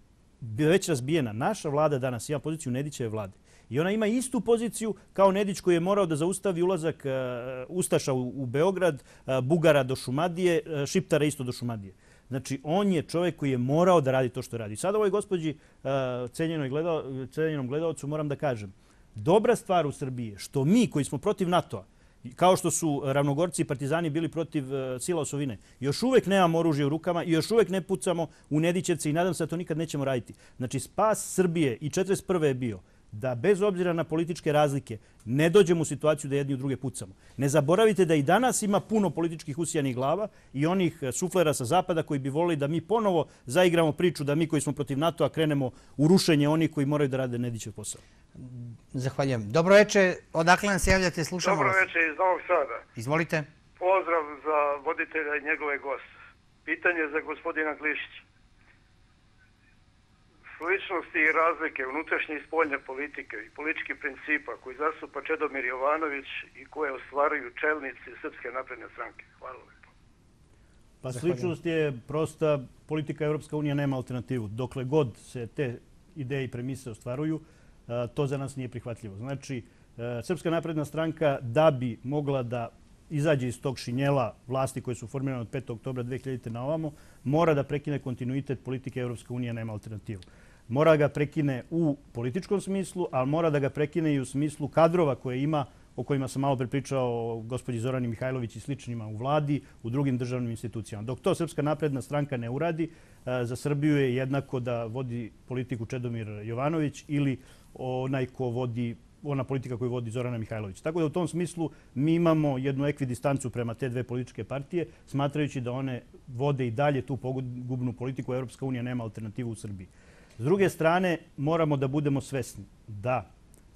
već razbijena. Naša vlada danas ima poziciju Nedićeve vlade. I ona ima istu poziciju kao Nedić koji je morao da zaustavi ulazak Ustaša u Beograd, Bugara do Šumadije, Šiptara isto do Šumadije. Znači, on je čovjek koji je morao da radi to što radi. Sada ovoj gospođi, cenjenom gledalcu, moram da kažem, dobra stvar u Srbiji je što mi koji smo protiv NATO-a, kao što su Ravnogorci i Partizani bili protiv sila osovine, još uvek nemamo oružje u rukama i još uvek ne pucamo u Nedićevce i nadam se da to nikad nećemo raditi. Znači, spas Srbije i 1941. je bio da bez obzira na političke razlike ne dođemo u situaciju da jedni u druge pucamo. Ne zaboravite da i danas ima puno političkih usijanih glava i onih suflera sa zapada koji bi volili da mi ponovo zaigramo priču da mi koji smo protiv NATO-a krenemo u rušenje onih koji moraju da rade Nedićev posao. Zahvaljujem. Dobro večer. Odakle nam se javljate? Slušamo vas. Dobro večer iz Novog Sada. Izvolite. Pozdrav za voditelja i njegove goste. Pitanje za gospodina Glišića. Sličnosti i razlike unutrašnje i spoljne politike i političkih principa koji zastupa Čedomir Jovanović i koje ostvaruju čelnici Srpske napredne stranke. Hvala lepo. Pa sličnost je prosta. Politika Evropska unija nema alternativu. Dokle god se te ideje i premise ostvaruju, to za nas nije prihvatljivo. Znači, Srpska napredna stranka da bi mogla da izađe iz tog šinjela vlasti koje su formirane od 5. oktobra 2000. na ovamo, mora da prekine kontinuitet politike Evropska unija nema alternativu. Mora ga prekine u političkom smislu, ali mora da ga prekine i u smislu kadrova koje ima, o kojima sam malo prepričao o gospođi Zorani Mihajlović i sličnima u vladi, u drugim državnim institucijama. Dok to Srpska napredna stranka ne uradi, za Srbiju je jednako da vodi politiku Čedomir Jovanović ili ona politika koju vodi Zorana Mihajlović. Tako da u tom smislu mi imamo jednu ekvidistancu prema te dve političke partije, smatrajući da one vode i dalje tu pogubnu politiku. Evropska unija nema alternativu u Srbiji. S druge strane, moramo da budemo svesni da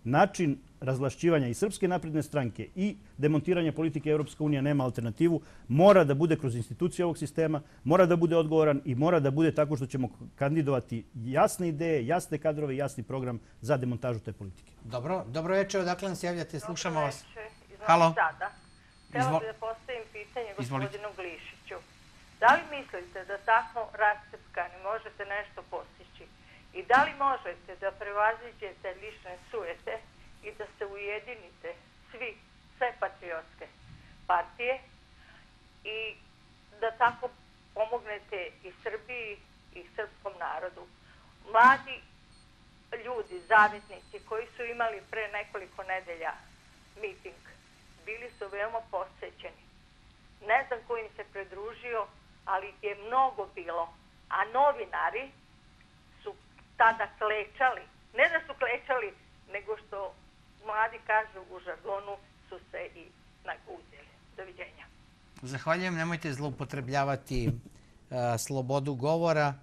način razvlašćivanja i Srpske napredne stranke i demontiranja politike Evropska unija nema alternativu, mora da bude kroz institucije ovog sistema, mora da bude odgovoran i mora da bude tako što ćemo kandidovati jasne ideje, jasne kadrove i jasni program za demontažu te politike. Dobro večer, odakle nam se javljate, slušamo vas. Halo. Htjela bih da postavim pitanje gospodinu Glišiću. Da li mislite da tako rascepkani možete nešto postići? I da li možete da prevaziđete lične sujete i da se ujedinite sve patriotske partije i da tako pomognete i Srbiji i srpskom narodu? Mladi ljudi, zavetnici koji su imali pre nekoliko nedelja miting, bili su veoma posećeni. Ne znam ko im se pridružio, ali je mnogo bilo. A novinari su tada klečali. Ne da su klečali, nego što mladi kažu u žargonu su se i naguzili. Doviđenja. Zahvaljujem. Nemojte zloupotrebljavati slobodu govora,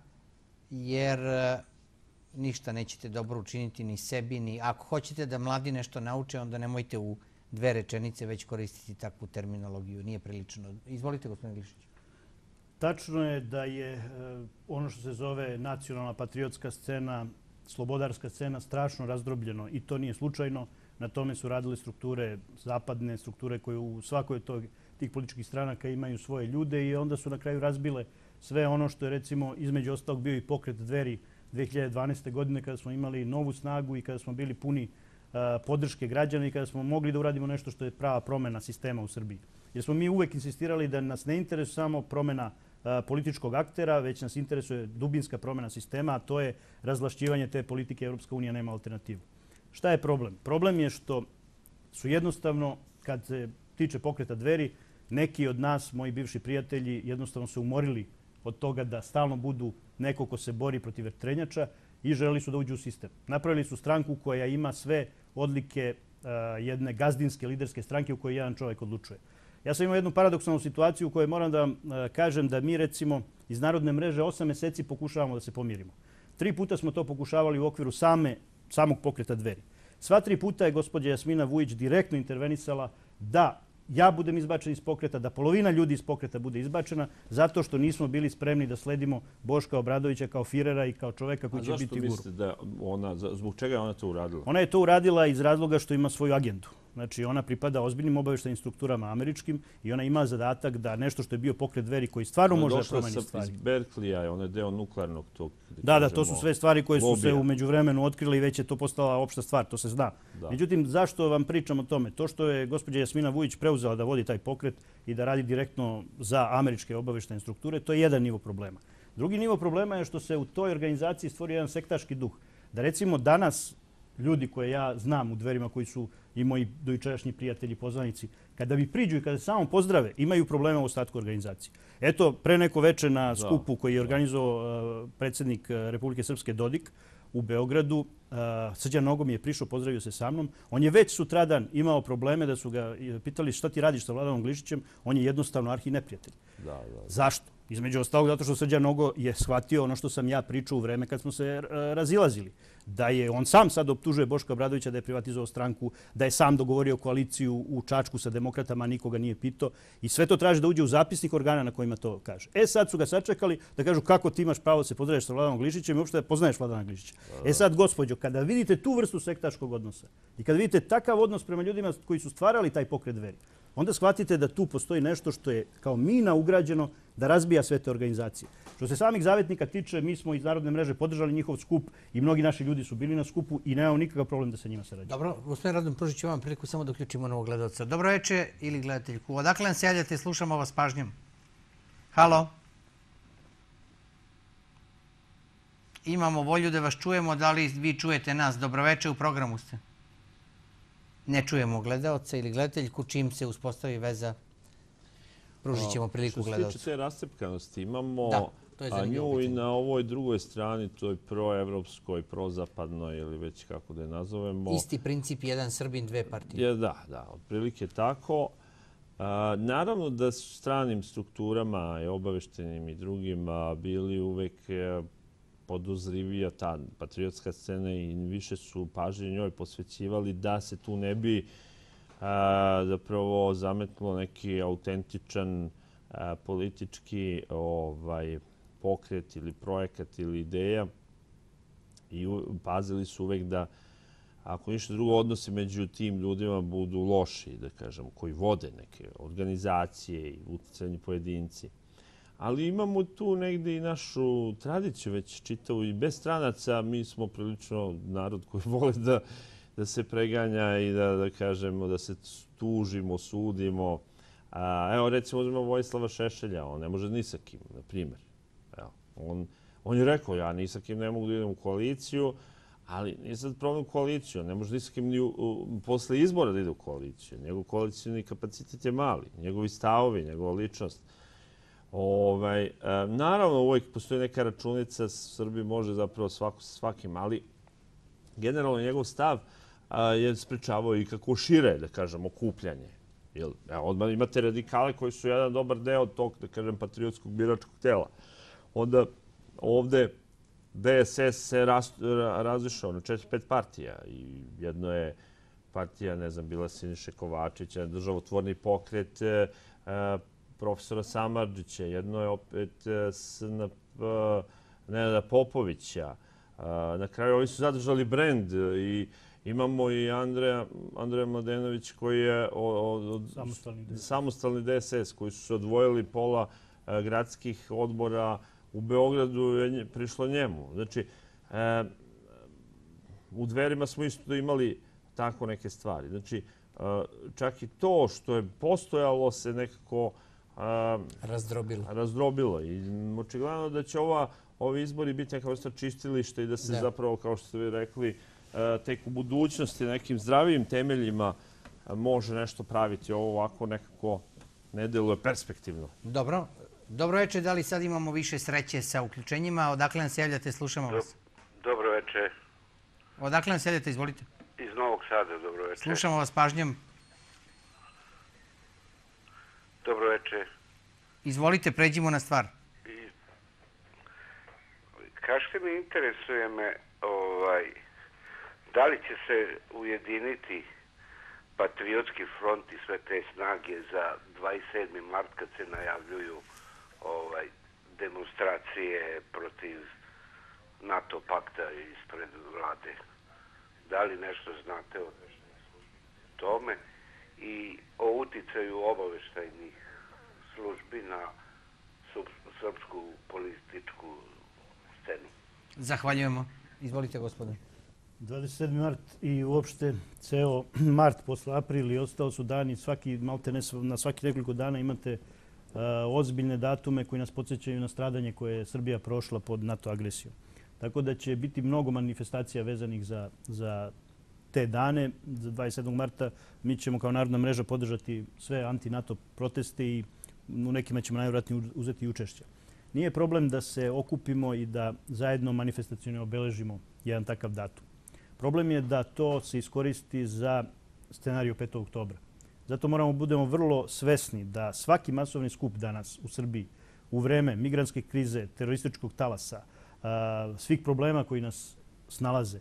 jer ništa nećete dobro učiniti ni sebi, ni ako hoćete da mladi nešto nauče, onda nemojte u 2 rečenice već koristiti takvu terminologiju. Nije prilično. Izvolite, gospodine Glišić. Tačno je da je ono što se zove nacionalna patriotska scena, slobodarska scena, strašno razdrobljeno i to nije slučajno. Na tome su radile strukture, zapadne strukture koje u svakoj tih političkih stranaka imaju svoje ljude i onda su na kraju razbile sve ono što je recimo između ostalog bio i pokret Dveri 2012. godine kada smo imali novu snagu i kada smo bili puni podrške građana i kada smo mogli da uradimo nešto što je prava promjena sistema u Srbiji. Jer smo mi uvek insistirali da nas ne interesuje samo promjena političkog aktera, već nas interesuje dubinska promjena sistema, a to je razvlašćivanje te politike. Evropska unija nema alternativu. Šta je problem? Problem je što su jednostavno, kad se tiče pokreta Dveri, neki od nas, moji bivši prijatelji, jednostavno se umorili od toga da stalno budu neko ko se bori protiv vetrenjača i želeli su da uđu u sistem. Napravili su stranku koja ima sve odlike jedne gazdinske liderske stranke u kojoj jedan čovjek odlučuje. Ja sam imao jednu paradoksalnu situaciju u kojoj moram da vam kažem da mi recimo iz Narodne mreže 8 meseci pokušavamo da se pomirimo. 3 puta smo to pokušavali u okviru samog pokreta Dveri. Sva 3 puta je gospođa Jasmina Vujić direktno intervenisala da ja budem izbačen iz pokreta, da polovina ljudi iz pokreta bude izbačena, zato što nismo bili spremni da sledimo Boška Obradovića kao Firera i kao čoveka koji će biti guru. A zašto mislite da zbog čega je ona to uradila? Ona je to uradila iz razloga što ima svoju agendu. Znači, ona pripada ozbiljnim obaveštajnim strukturama američkim i ona ima zadatak da nešto što je bio pokret Dveri koji stvarno može da promeni stvari. Iz Berkleya, ona je deo nuklearnog tog... Da, to su sve stvari koje su se u međuvremenu otkrile i već je to postala opšta stvar, to se zna. Međutim, zašto vam pričam o tome? To što je gospođa Jasmina Vujić preuzela da vodi taj pokret i da radi direktno za američke obaveštajne strukture, to je jedan nivo problema. Drugi nivo problema je što se u toj organizaciji stvorio jedan sektaški duh. Da recimo danas ljudi koje ja znam u Dverima koji su i moji dojučerašnji prijatelji, poznanici, kada mi priđu i kada se samo pozdrave, imaju problema u ostatku organizacije. Eto, pre neko veče na skupu koji je organizovao predsjednik Republike Srpske Dodik u Beogradu, Srđan Nogo mi je prišao, pozdravio se sa mnom. On je već sutradan imao probleme da su ga pitali šta ti radiš sa Vladanom Glišićem. On je jednostavno arhineprijatelj. Zašto? Između ostalog zato što Srđan Nogo je shvatio ono što sam ja pričao u vreme kad smo se razilazili. Da je on sam sad optužuje Boška Obradovića da je privatizovao stranku, da je sam dogovorio koaliciju u Čačku sa demokratama, nikoga nije pitao. I sve to traži da uđe u zapisnik organa na kojima to kaže. Sad su ga sačekali da kažu kako ti imaš pravo da se pozdraviš sa Vladanom Glišićem i uopšte da poznaješ Vladana Glišića. Sad, gospođo, kada vidite tu vrstu sektaškog odnosa i kada vidite takav odnos prema ljudima koji su stvarali taj pokret Dveri, onda shvatite da tu postoji nešto što je kao mina ugrađeno da razbija sve te organizacije. Što se samih zavetnika tiče, mi smo iz Narodne mreže podržali njihov skup i mnogi naši ljudi su bili na skupu i nemamo nikakav problem da sa njima sarađujemo. Dobro, gospodin Radon, pružit ću vam priliku samo da uključimo novog gledalca. Dobro večer ili gledateljku. Odakle nam se javljate, slušamo vas pažnjom. Halo? Imamo volju da vas čujemo, da li vi čujete nas? Dobro večer, u programu ste. Ne čujemo gledalca ili gledateljku, čim se uspostavi veza, pružit ćemo priliku gledalcu. Što se tiče te rascepkanosti, imamo nju i na ovoj drugoj strani, toj proevropskoj, prozapadnoj ili već kako da je nazovemo. Isti princip, jedan Srbin, dve partije. Da, otprilike tako. Naravno da su stranim strukturama i obaveštenim i drugim bili uvek podozrivija ta patriotska scena i više su pažnje njoj posvećivali da se tu ne bi zapravo zametnulo neki autentičan politički pokret ili projekat ili ideja i pazili su uvek da ako ništa drugo odnosi među tim ljudima budu loši, da kažem, koji vode neke organizacije i uticajni pojedinci. Ali imamo tu negde i našu tradiciju već čitavu i bez stranaca. Mi smo prilično narod koji vole da se preganja i da kažemo da se tužimo, sudimo. Evo recimo uzmemo Vojislava Šešelja, on ne može ni sa kim, na primjer. On je rekao ja ni sa kim ne mogu da idem u koaliciju, ali nije sad problem koaliciju, ne može ni sa kim ni posle izbora da ide u koaliciju. Njegov koalicijni kapacitet je mali, njegovi stavovi, njegova ličnost. Naravno, uvijek postoji neka računica, Srbiji može zapravo svako sa svakim, ali generalno njegov stav je sprečavao i kako šire, da kažem, okupljanje. Odmah imate radikale koji su jedan dobar deo tog, da kažem, patriotskog biračkog tela. Onda ovde DSS se razišao na 4-5 partija i jedno je partija, ne znam, bila Siniše Kovačića, državotvorni pokret, profesora Samardžića, jedno je opet SNP Nenada Popovića. Na kraju ovi su zadržali brend i imamo i Andreja Mladenović koji je samostalni DSS, koji su se odvojili pola gradskih odbora u Beogradu je prišlo njemu. Znači, u Dverima smo isto imali tako neke stvari. Znači, čak i to što je postojalo se nekako razdrobilo. I očigledno da će ovi izbori biti neka vrsta čistilišta i da se zapravo, kao što ste vi rekli, tek u budućnosti nekim zdravijim temeljima može nešto praviti. Ovo ovako nekako ne deluje perspektivno. Dobro. Dobro večer, da li sad imamo više sreće sa uključenjima? Odakle nam se javljate, slušamo vas. Dobro večer. Odakle nam se javljate, izvolite. Iz Novog Sada, dobro večer. Slušamo vas pažnjom. Dobro večer. Izvolite, pređimo na stvar. Kažete mi, interesuje me, da li će se ujediniti Patriotski front i sve te snage za 27. mart kad se najavljuju demonstracije protiv NATO pakta ispred vlade. Da li nešto znate o tome i o uticaju obaveštajnih službi na srpsku političku scenu? Zahvaljujemo. Izvolite, gospodine. 27. mart i uopšte ceo mart posle aprila i ostao su dani, na svaki nekoliko dana imate ozbiljne datume koji nas podsjećaju na stradanje koje je Srbija prošla pod NATO agresijom. Tako da će biti mnogo manifestacija vezanih za te dane. Za 27. marta mi ćemo kao Narodna mreža podržati sve anti-NATO proteste i u nekima ćemo najvjerojatnije uzeti učešće. Nije problem da se okupimo i da zajedno manifestacijno obeležimo jedan takav datum. Problem je da to se iskoristi za scenariju 5. oktobra. Zato moramo budemo vrlo svesni da svaki masovni skup danas u Srbiji u vreme migrantske krize, terorističkog talasa, svih problema koji nas snalaze,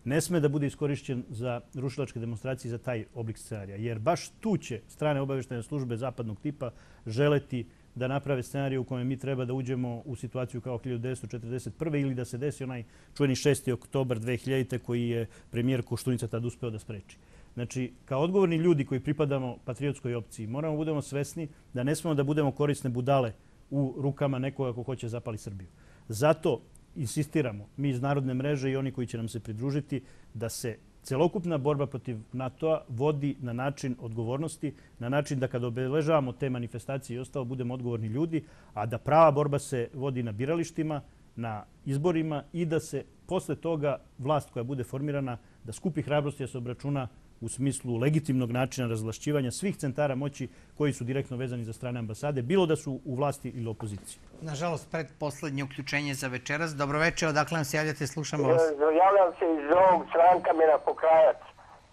ne sme da bude iskorišćen za rušilačke demonstracije za taj oblik scenarija. Jer baš tu će strane obavještajne službe zapadnog tipa želeti da naprave scenarij u kojem mi treba da uđemo u situaciju kao 1941. ili da se desi onaj čuveni 6. oktobar 2000. koji je premijer Koštunica tad uspeo da spreči. Znači, kao odgovorni ljudi koji pripadamo patriotskoj opciji, moramo budemo svesni da ne smemo da budemo korisne budale u rukama nekoga ko hoće zapali Srbiju. Zato insistiramo, mi iz Narodne mreže i oni koji će nam se pridružiti, da se celokupna borba protiv NATO-a vodi na način odgovornosti, na način da kad obeležavamo te manifestacije i ostalo budemo odgovorni ljudi, a da prava borba se vodi na biralištima, na izborima i da se posle toga vlast koja bude formirana da skupi hrabrosti da se obračuna u smislu legitimnog načina razvlašćivanja svih centara moći koji su direktno vezani za strane ambasade, bilo da su u vlasti ili opoziciji. Nažalost, predposlednje uključenje za večeras. Dobro večer, odakle nam se javljate, slušamo vas. Javljam se iz ovog Stranka Mira Pokrajac.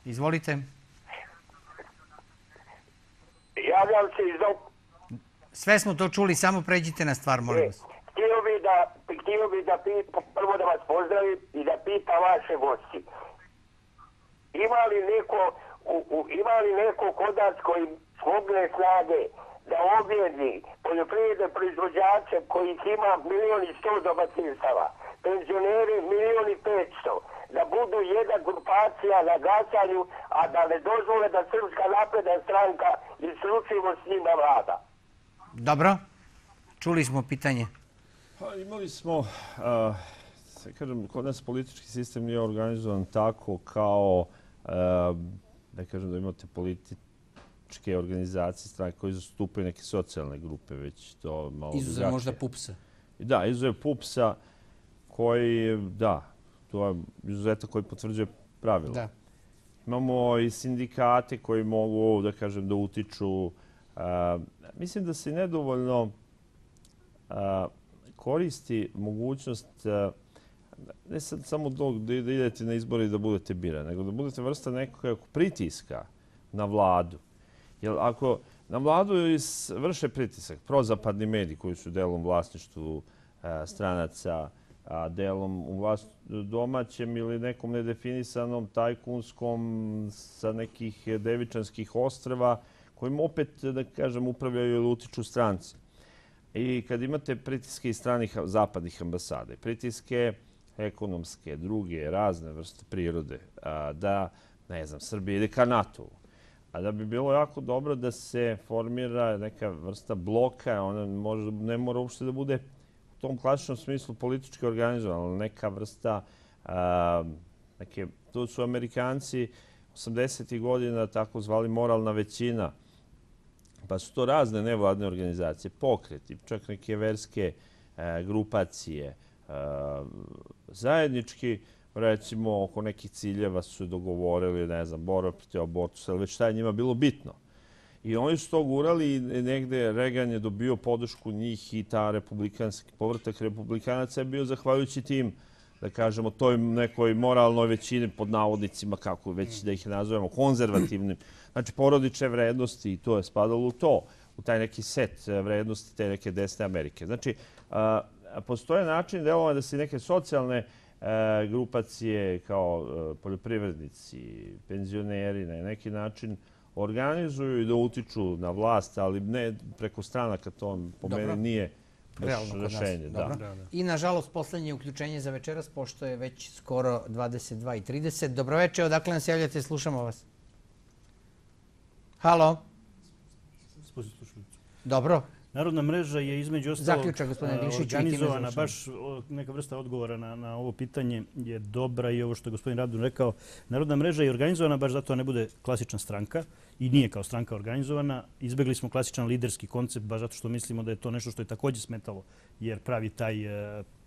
Izvolite. Javljam se iz ovog... Sve smo to čuli, samo pređite na stvar, molim vas. Htio bi da prvo da vas pozdravim i da pitam vaše gosti. Ima li neko kod nas koji smogne snage da objedi poljoprivredne proizvođače kojih ima 1.100.000 domaćinstava, penzioneri 1.500.000, da budu jedna grupacija na glasanju, a da ne dozvole da Srpska napredna stranka isključivo s njima vlada? Dobro. Čuli smo pitanje. Imali smo, kažem, kod nas politički sistem nije organizovan tako kao, da kažem, da imate političke organizacije, stranke koje zastupaju neke socijalne grupe, već to malo drugačije. Izuzev možda PUPS-a. Da, izuzev PUPS-a koji, da, to je izuzetak koji potvrđuje pravilo. Da. Imamo i sindikate koji mogu, da kažem, da utiču. Mislim da se nedovoljno koristi mogućnost ne samo da idete na izbore i da budete birani, nego da budete vrsta nekog pritiska na vladu. Jer ako na vladu vrše pritisak prozapadni mediji koji su delom vlasništvu stranaca, a delom u domaćem ili nekom nedefinisanom tajkunskom sa nekih Devičanskih ostrva kojim opet, da kažem, upravljaju ili utiču stranci. I kad imate pritiske iz stranih zapadnih ambasade, pritiske ekonomske, druge, razne vrste prirode, da, ne znam, Srbija ide ka NATO-u, a da bi bilo jako dobro da se formira neka vrsta bloka, ona ne mora uopšte da bude u tom klasičnom smislu politički organizovana, ali neka vrsta, to su Amerikanci 80. godina tako zvali moralna većina, pa su to razne nevladne organizacije, pokreti, čak neke verske grupacije, zajednički recimo oko nekih ciljeva su dogovorili, ne znam, borba protiv abortusa, ali već šta je njima bilo bitno. I oni su to gurali i negde Reagan je dobio podršku njih i ta povratak republikanaca je bio zahvaljujući tim, da kažemo, toj nekoj moralnoj većini, pod navodnicima, kako već da ih nazovemo, konzervativnim. Znači, porodične vrednosti i to je spadalo u to, u taj neki set vrednosti te neke desne Amerike. Znači, postoje način delovanja da se neke socijalne grupacije kao poljoprivrednici, penzioneri na neki način organizuju i da utiču na vlast, ali ne preko stranaka, to po meni nije rešenje. I nažalost, poslednje uključenje za večeras, pošto je već skoro 22:30. Dobroveče, odakle nas javljate, slušamo vas. Halo? Dobro. Narodna mreža je između ostalog organizovana, baš baš neka vrsta odgovora na ovo pitanje je dobra i ovo što je gospodin Radun rekao. Narodna mreža je organizovana baš zato da ne bude klasična stranka i nije kao stranka organizovana. Izbegli smo klasičan liderski koncept baš zato što mislimo da je to nešto što je takođe smetalo jer pravi taj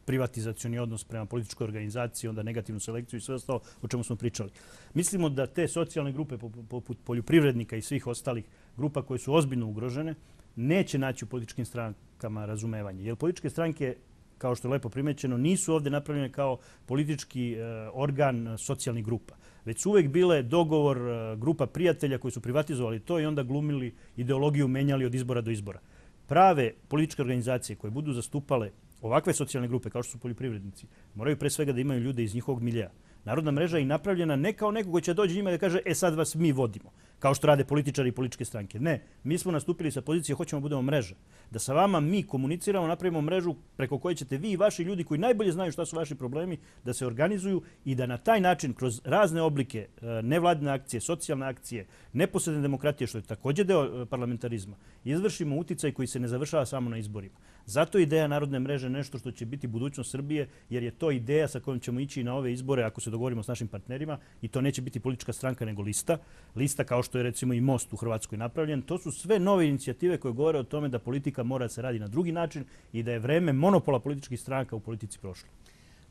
privatizacioni odnos prema političkoj organizaciji, onda negativnu selekciju i sve ostalo o čemu smo pričali. Mislimo da te socijalne grupe poput poljoprivrednika i svih ostalih grupa koje su ozbiljno ugrožene neće naći u političkim strankama razumevanje. Jer političke stranke, kao što je lepo primećeno, nisu ovde napravljene kao politički organ socijalnih grupa, već su uvek bile dogovor grupa prijatelja koji su privatizovali to i onda glumili ideologiju, menjali od izbora do izbora. Prave političke organizacije koje budu zastupale ovakve socijalne grupe, kao što su poljoprivrednici, moraju pre svega da imaju ljude iz njihovog miljeja. Narodna mreža je i napravljena ne kao neko koji će doći njima i da kaže sad vas mi vodimo, kao što rade političari i političke stranke. Ne, mi smo nastupili sa pozicije hoćemo budemo mreža. Da sa vama mi komuniciramo, napravimo mrežu preko koje ćete vi i vaši ljudi koji najbolje znaju šta su vaši problemi da se organizuju i da na taj način kroz razne oblike nevladine akcije, socijalne akcije, neposredne demokratije, što je takođe deo parlamentarizma, izvršimo uticaj koji se ne završava samo na izborima. Zato je ideja Narodne mreže nešto što će biti budućnost Srbije, jer je to ideja sa kojom ćemo ići na ove izbore ako se dogovorimo s našim partnerima i to neće biti politička stranka nego lista. Lista kao što je recimo i Most u Hrvatskoj napravljen. To su sve nove inicijative koje govore o tome da politika mora da se radi na drugi način i da je vreme monopola političkih stranaka u politici prošlo.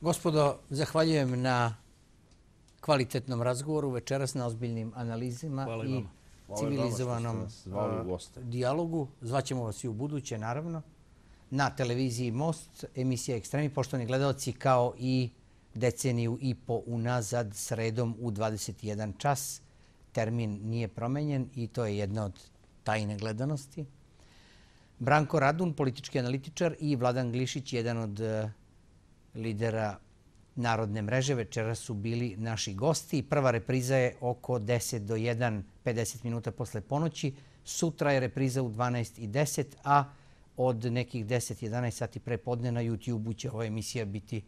Gospodo, zahvaljujem na kvalitetnom razgovoru, večeras na ozbiljnim analizima i civilizovanom dijalogu. Zvaćemo vas i u buduće, naravno, na televiziji Most, emisija Ekstremi. Poštovani gledalci, kao i deceniju i po unazad, sredom u 21 čas. Termin nije promenjen i to je jedna od tajne gledanosti. Branko Radun, politički analitičar, i Vladan Glišić, jedan od lidera Narodne mreže, večeras su bili naši gosti. Prva repriza je oko 10 do 1, 50 minuta posle ponoći. Sutra je repriza u 12:10, a od nekih 10-11 sati pre podne na YouTube-u će ova emisija biti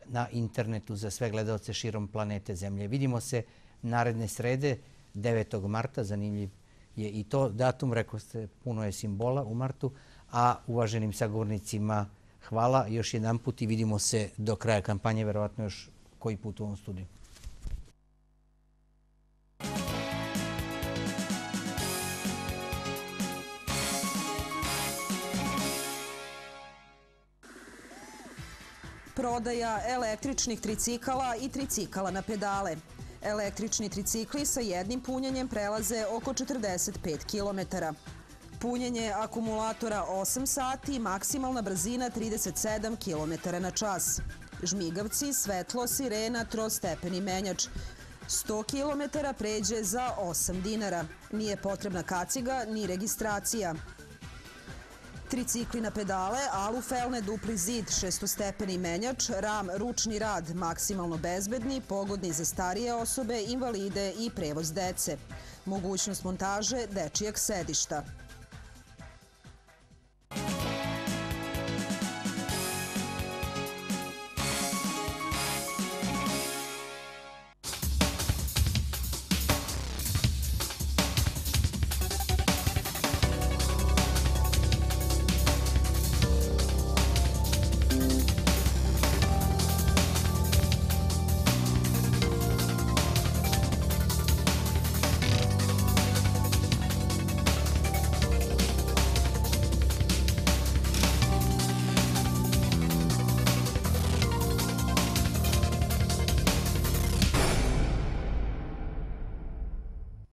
na internetu za sve gledalce širom planete Zemlje. Vidimo se naredne srede, 9. marta, zanimljiv je i to datum, rekao ste, puno je simbola u martu, a uvaženim sagovornicima hvala još jedan put i vidimo se do kraja kampanje, verovatno još koji put u ovom studiju. Prodaja električnih tricikala i tricikala na pedale. Električni tricikli sa jednim punjenjem prelaze oko 45 km. Punjenje akumulatora 8 sati, maksimalna brzina 37 km na čas. Žmigavci, svetlo, sirena, trostepeni menjač. 100 km pređe za 8 dinara. Nije potrebna kaciga ni registracija. Tricikli na pedale, alufelne, dupli zid, 6-stepeni menjač, ram, ručni rad, maksimalno bezbedni, pogodni za starije osobe, invalide i prevoz dece. Mogućnost montaže dečijeg sedišta.